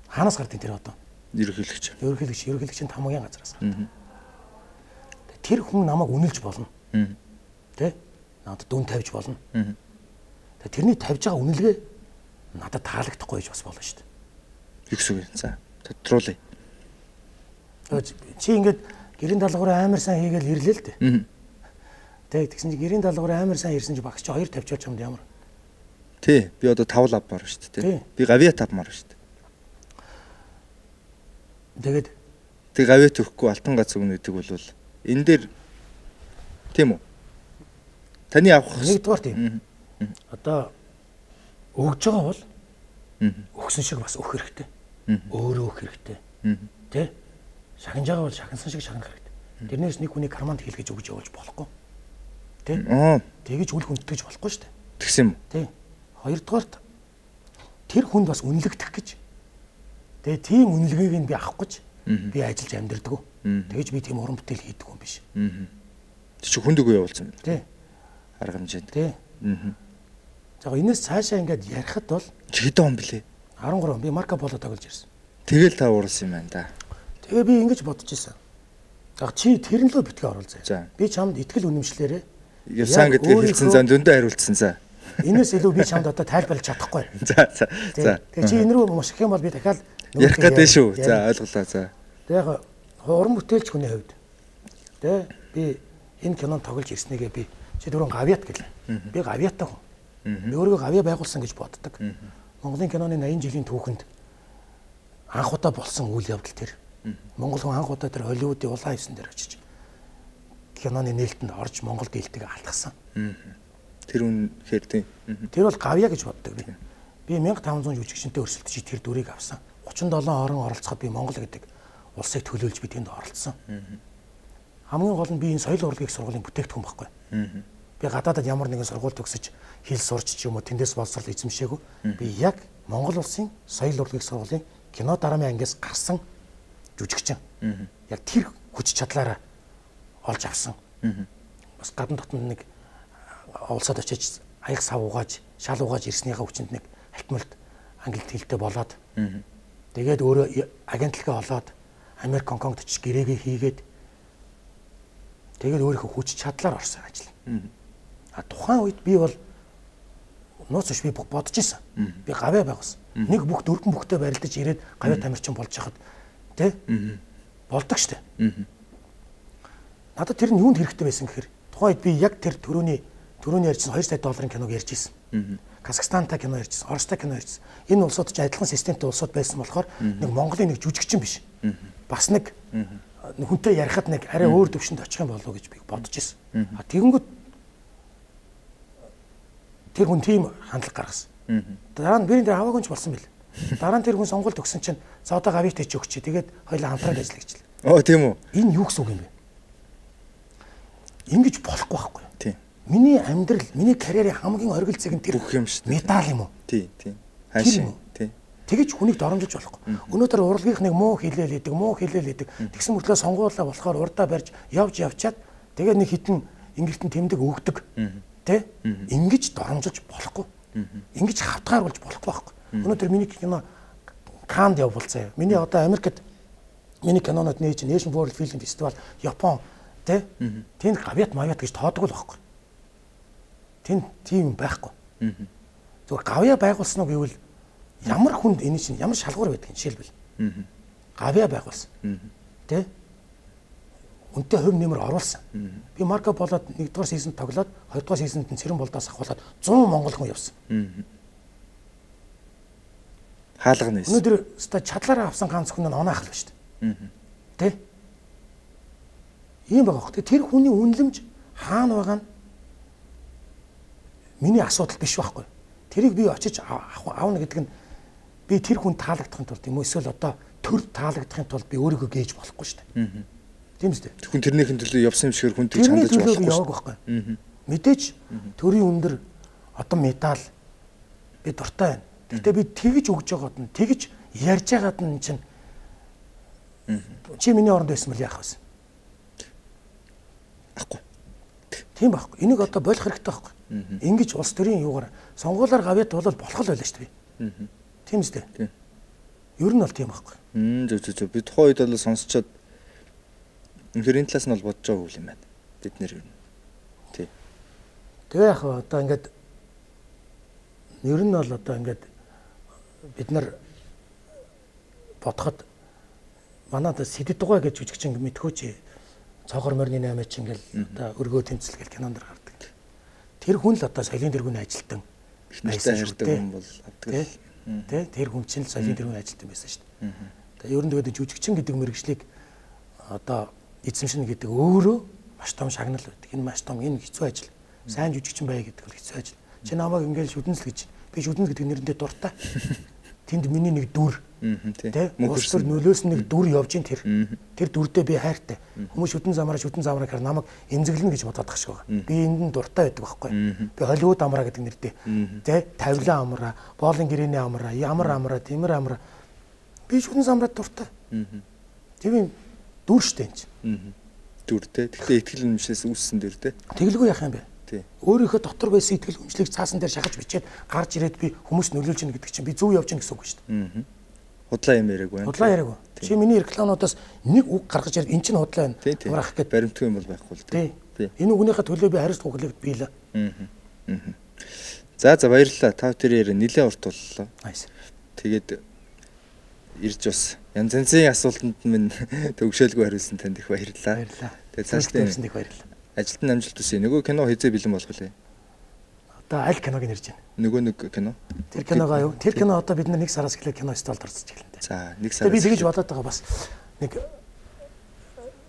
Хаанаас гардыг тэр одоо? Ерөнхийлөгч. Ерөнхийлөгчийн хамгийн газраас гардаг. Тэр хүн намайг үнэлж болно. Тэ? Надад дүн тавьж болно. Тэгээ тэрний тавьж байгаа үнэлгээ надад таалагдахгүй гэж бас болно шүү дээ. Юу гэсэн үг вэ? За, тодруулъя. Чи ингээд гэрийн даалгавраа амар сайн хийгээл ирлээ л дээ. Тэ тэгсэн чи гэрийн даалгавраа амар сайн ирсэн чи багч 2 тавьчихж юмд ямар. Тий, би одоо 5 лав маар шүү дээ. Би гавья 5 маар шүү дээ. Тэг гавья төгөхгүй алтан гац өгнө гэдэг бол энэ дээр тийм үү? Таны авах нэгдүгээр тийм. Одоо өгж байгаа бол өгсөн шиг бас өгөх хэрэгтэй. Өөрөө өгөх хэрэгтэй. Тэ? Шахинж байгаа бол шахинсан шиг шахинах хэрэгтэй. Тэрнээс нэг хүний карманд хийлгэж өгж явуулж болохгүй. Тэ? Тэгэж үл хүндэтгэж болохгүй шүү дээ. Тэгсэн юм уу? Тэ. Хоёрдугаарт тэр хүнд бас үнэлэгдэх гэж. Тэгээ тийм үнэлгээг нь би авах гэж би ажиллаж амьдэрдэг. Тэгэж би тийм уран бүтээл хийдэг юм биш. Тэг чи хүнд үгүй явуулсан юм. Тэ. Арга хэмжээнд. Тэ. За энэс цаашаа ингээд ярихад бол хэдэн он блэ? 13 он би Марко Поло тоглож ирсэн. Тэгэл та уурсан юм байна да. Тэгээ би ингэж бодож ирсэн. За чи тэрэн лөө битгий оруулъя. Би чамд итгэл үнэмшлээрээ явсан гэдгийг хэлсэн зан зөндөө хариулсан за. Энэс илүү би чамд одоо тайлбарлаж чадахгүй. За. Тэгээ чи энэ рүү муших юм бол би дахиад ярих гэдэг шүү. За ойлголоо за. Тэгээ яг уран бүтээлч хүний хувьд тэгээ би энэ кинонд тоглож ирснэгээ би чи дөрөв гавьят гэлээ. Би гавьяатай хүн. Би өөрийгөө гавья байгуулсан гэж боддог. Монголын киноны 80 жилийн түүхэнд анх удаа болсон үйл явдал тэр. Монгол хүн анх удаа тэр Холливуудын улаан хивсэн дээр очиж киноны нээлтэнд орж Монгол гэлтгийг алдсан. Тэр үнэхээр тийм. Тэр бол гавья гэж боддог би. Би 1500 жүжигчтэй өрсөлдөж тэр дүрийг авсан. 37 орон оролцоход би Монгол гэдэг улсыг төлөөлж би тэнд оролцсон. Хамгийн гол нь би энэ соёл урлагийн сургуулийн бүтээгдэхүүн байхгүй. Би гадаадад ямар нэгэн сургууль төгсөж хэл сурч ч юм уу тэндээс боловсрол эзэмшээгүй. Би яг Монгол улсын соёл урлагийн сургуулийн кино дараамын ангиас гарсан жүжигчин. Яг тэр хүч чадлаараа олж авсан. Бас гадна дотнд нэг улсад очиж аяг сав угааж, шал угааж ирснийхаа хүчинд нэг халтмалт англид хэлтэй болоод тэгээд өөрөө агентлагаа олоод Америк, Гонконгд очиж гэрээгээ хийгээд тэгээд өөрийнхөө хүч чадлаар орсон ажил. Тухайн үед би бол нууц биш би бодож исэн. Би гавья байгуулсан. Нэг бүх дөрвөн бүхтэй барилдаж ирээд гавья тамирчин болж хахад тий болдог штэ. Надад тэр нь юунд хэрэгтэй байсан гэхээр тухайн үед би яг тэр төрөний ярьсан $2 сая киног ярьж исэн. Казахстантай кино ярьжсэн, Оростой кино ярьжсэн. Энэ улсууд ч адилхан системтэй улсууд байсан болохоор нэг Монголын нэг жүжигчин биш. Бас нэг хүнтэй ярихад нэг арай өөр төвшөнд очих юм болов уу гэж би бодож ирсэн. Тэгэнгүүт тэр хүн тийм хандлага гаргасан. Дараа нь бирэнд дээр аваагүй ч болсон бил. Дараа нь тэр хүн сонгуульд өгсөн чинь за одоо гавьяатай ч өгч тэгээд хоёлаа хамтраад ажиллая гэж. Тийм үү? Энэ юу гэсэн үг юм бэ? Ингэж болохгүй байхгүй. Тийм. Миний амьдрал, миний карьерийн хамгийн оргил зэг нь тэр бүх юм шүү дээ. Медаль юм уу? Тийм. Хаашаа. Тийм. Тэгэж хүнийг доромжилж болохгүй. Өнөөдөр урлагийнхныг муу хэлээл идэг. Тэгсэн мөртлөө сонгуулаа болохоор урдаа барьж явчаад тэгээд нэг хитэн ингэртэн тэмдэг өгдөг. Тэ? Ингэж доромжилж болохгүй. Ингэж хавтгааруулж болохгүй байхгүй. Өнөөдөр миний кино Каннд явуулсан. Миний одоо Америкт миний кинонууд нээж Asian World Film Festival, Япон, тэ? Тэнд гавьяат мавьяат гэж тоодог л байхгүй. Тэнд тийм байхгүй. Зүгээр гавья байгуулсан уу гэвэл ямар хүнд энэ чинь ямар шалгуур байдаг юм жишээлбэл. Гавья байгуулсан. Тэ? Үнтэй хувь нэмэр оруулсан. Би Марко Полод 1-р сизонд тоглоод 2-р сизонд нь Цэрэн болдоос ахуулаад 100 монгол хүн явсан. Хаалга нээсэн. Өнөөдөр ста чадлаараа авсан ганц хүн нь онаах л ба шүү дээ. Тэ? Ийм байгаа хөө. Тэр хүний үнэлэмж хаана байгаа нь миний асуудал биш байхгүй. Тэрийг би очиж аавна гэдэг нь би тэр хүн таалагдахын тулд юм уу эсвэл одоо төр таалагдахын тулд би өөрийгөө гээж болохгүй шүү дээ. Тийм үстэй. Хүн тэрнийхэн төлөө явсан юм шигээр хүн тэгж хандаж болохгүй. Яваг байхгүй. Мэдээж төрийн өндөр одоо медаль би дуртай байна. Гэхдээ би тэгж өгж байгаад нь тэгж ярьж байгаад нь чинь чи миний оронд байсан бол яах вэ? Ахгүй. Тийм байхгүй. Энийг одоо болох хэрэгтэй байхгүй. Ингиж улс төрийн юугаар сонгуулиар гавьяд бол болох л байлаа шүү дээ. Тийм үстэй. Ер нь бол тийм байхгүй. Зөв. Би тухайн үед бол сонсчоод үнэхээр энэ талаас нь бол бодож байгаа үйл юм байна. Бид нэр ер нь. Тий. Тэгээ яг одоо ингээд ер нь бол одоо ингээд бид нар бодоход манайд Сэдэд дугай гэж жүжигчин мэдхөөч цоогор морины 8 ч ингээл одоо өргөө тэмцэл гэл кинонд гардаг. Тэр хүн л одоо соёлын тэргүүний ажилтан байсан шүү дээ. Хүн бол авдаг. Тэ тэр хүн чинь л соёлын тэргүүний ажилтан байсан шүү дээ. Тэгээ ер нь тэгээд жүжигчин гэдэг мэргэжлийг одоо эзэмшнэ гэдэг өөрөө маш том шагнал байдаг. Энэ маш том энэ хэцүү ажил. Сайн жүжигчин бай гэдэг бол хэцүү ажил. Чи намайг ингээл шүдэнс л гэж. Би шүдэнс гэдэг нэрэндээ дуртай. Тэнд миний нэг дүр. Тэ мөнхөр нөлөөс нэг дүр явж ин тэр. Тэр дүрдээ би хайртай. Хүмүүс шүдэн замаараа гэхээр намайг эмзэглэнэ гэж бодоод тах шиг байгаа. Би энд нь дуртай байдаг байхгүй. Би Холливуд амраа гэдэг нэртэй. Тэ тавилан амраа, боолын гэрээний амраа, ямар амраа, тиймэр амраа. Би шүдэн замраад дуртай. Тийм дүр штэ энэ чинь. Дүртэй. Тэгтээ итгэл үнэмшээс үүссэн дүр тэ. Тэглгүй яах юм бэ? Өөрийнхөө дотор байсан итгэл үнэмшлийг цаасан дээр шахаж бичээд гарч ирээд би хүмүүс нөлөөлж гин гэдэг чинь би зөв явж гин гэсэн үг шүү дээ. Худлаа юм яриаг байна. Худлаа яриаг. Чи миний рекламуудаас нэг үг гаргаж ирээд эн чинь худлаа байна. Амраах гэд баримтгүй юм бол байхгүй л дээ. Энэ үгнийхээ төлөө би хариуцлага хүлээгд биелээ. За баярлалаа. Та тэр нэлээд урт боллоо. Тэгээд ирж бас янз янзын асуултанд минь төгшөөлгүй хариулсан танд их баярлалаа. Тэгээд цаашдаа их баярлалаа. Ажилтан амжилт хүсье. Нөгөө кино хизээ бэлэн болох вэ? Одоо аль киног нэрж байна? Нөгөө нэг кино. Тэр киногоо юу? Тэр кино одоо бид нэг сараас эхлээд кино столд орцож эхэлнэ. За, нэг сараас. Би тэгэж бодоод байгаа бас нэг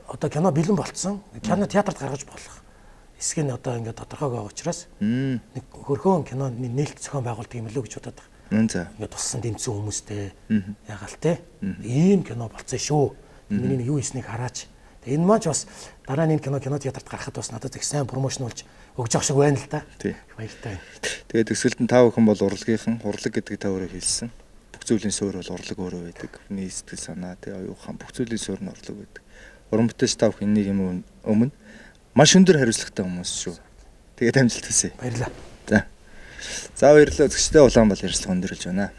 одоо кино бэлэн болцсон. Кино театрт гаргаж болох. Эсэг нь одоо ингээд тодорхой байгаа учраас нэг хөрхөн киноны нээлт зохион байгуулдаг юм лөө гэж бодоод байгаа. За. Ингээд туссан дэмцэн хүмүүстэй ягаал те. Ийм кино болцсон шүү. Миний нэг юу хийснийг хараач. Энэ маань ч бас дараа нь энэ кино театрт гарахад бас надад их сайн промошн болж өгж явах шиг байна л да. Баяртай. Тэгээд төсөлд нь 5 хүн бол урлagийнхан, урлаг гэдэг та өөрөө хэлсэн. Бүх зүйлийн суурь бол урлаг өөрөө байдаг. Хүний сэтгэл санаа, оюухан бүх зүйлийн суурь нь урлаг байдаг. Уран бүтээлч 5 хүн нэг юм өмнө маш өндөр хариуцлагатай хүмүүс шүү. Тэгээд амжилт хүсье. Баярлалаа. За. За баярлалаа. Үзэгчдээ Улаанбаатар ярилцлага өндөрлж байна.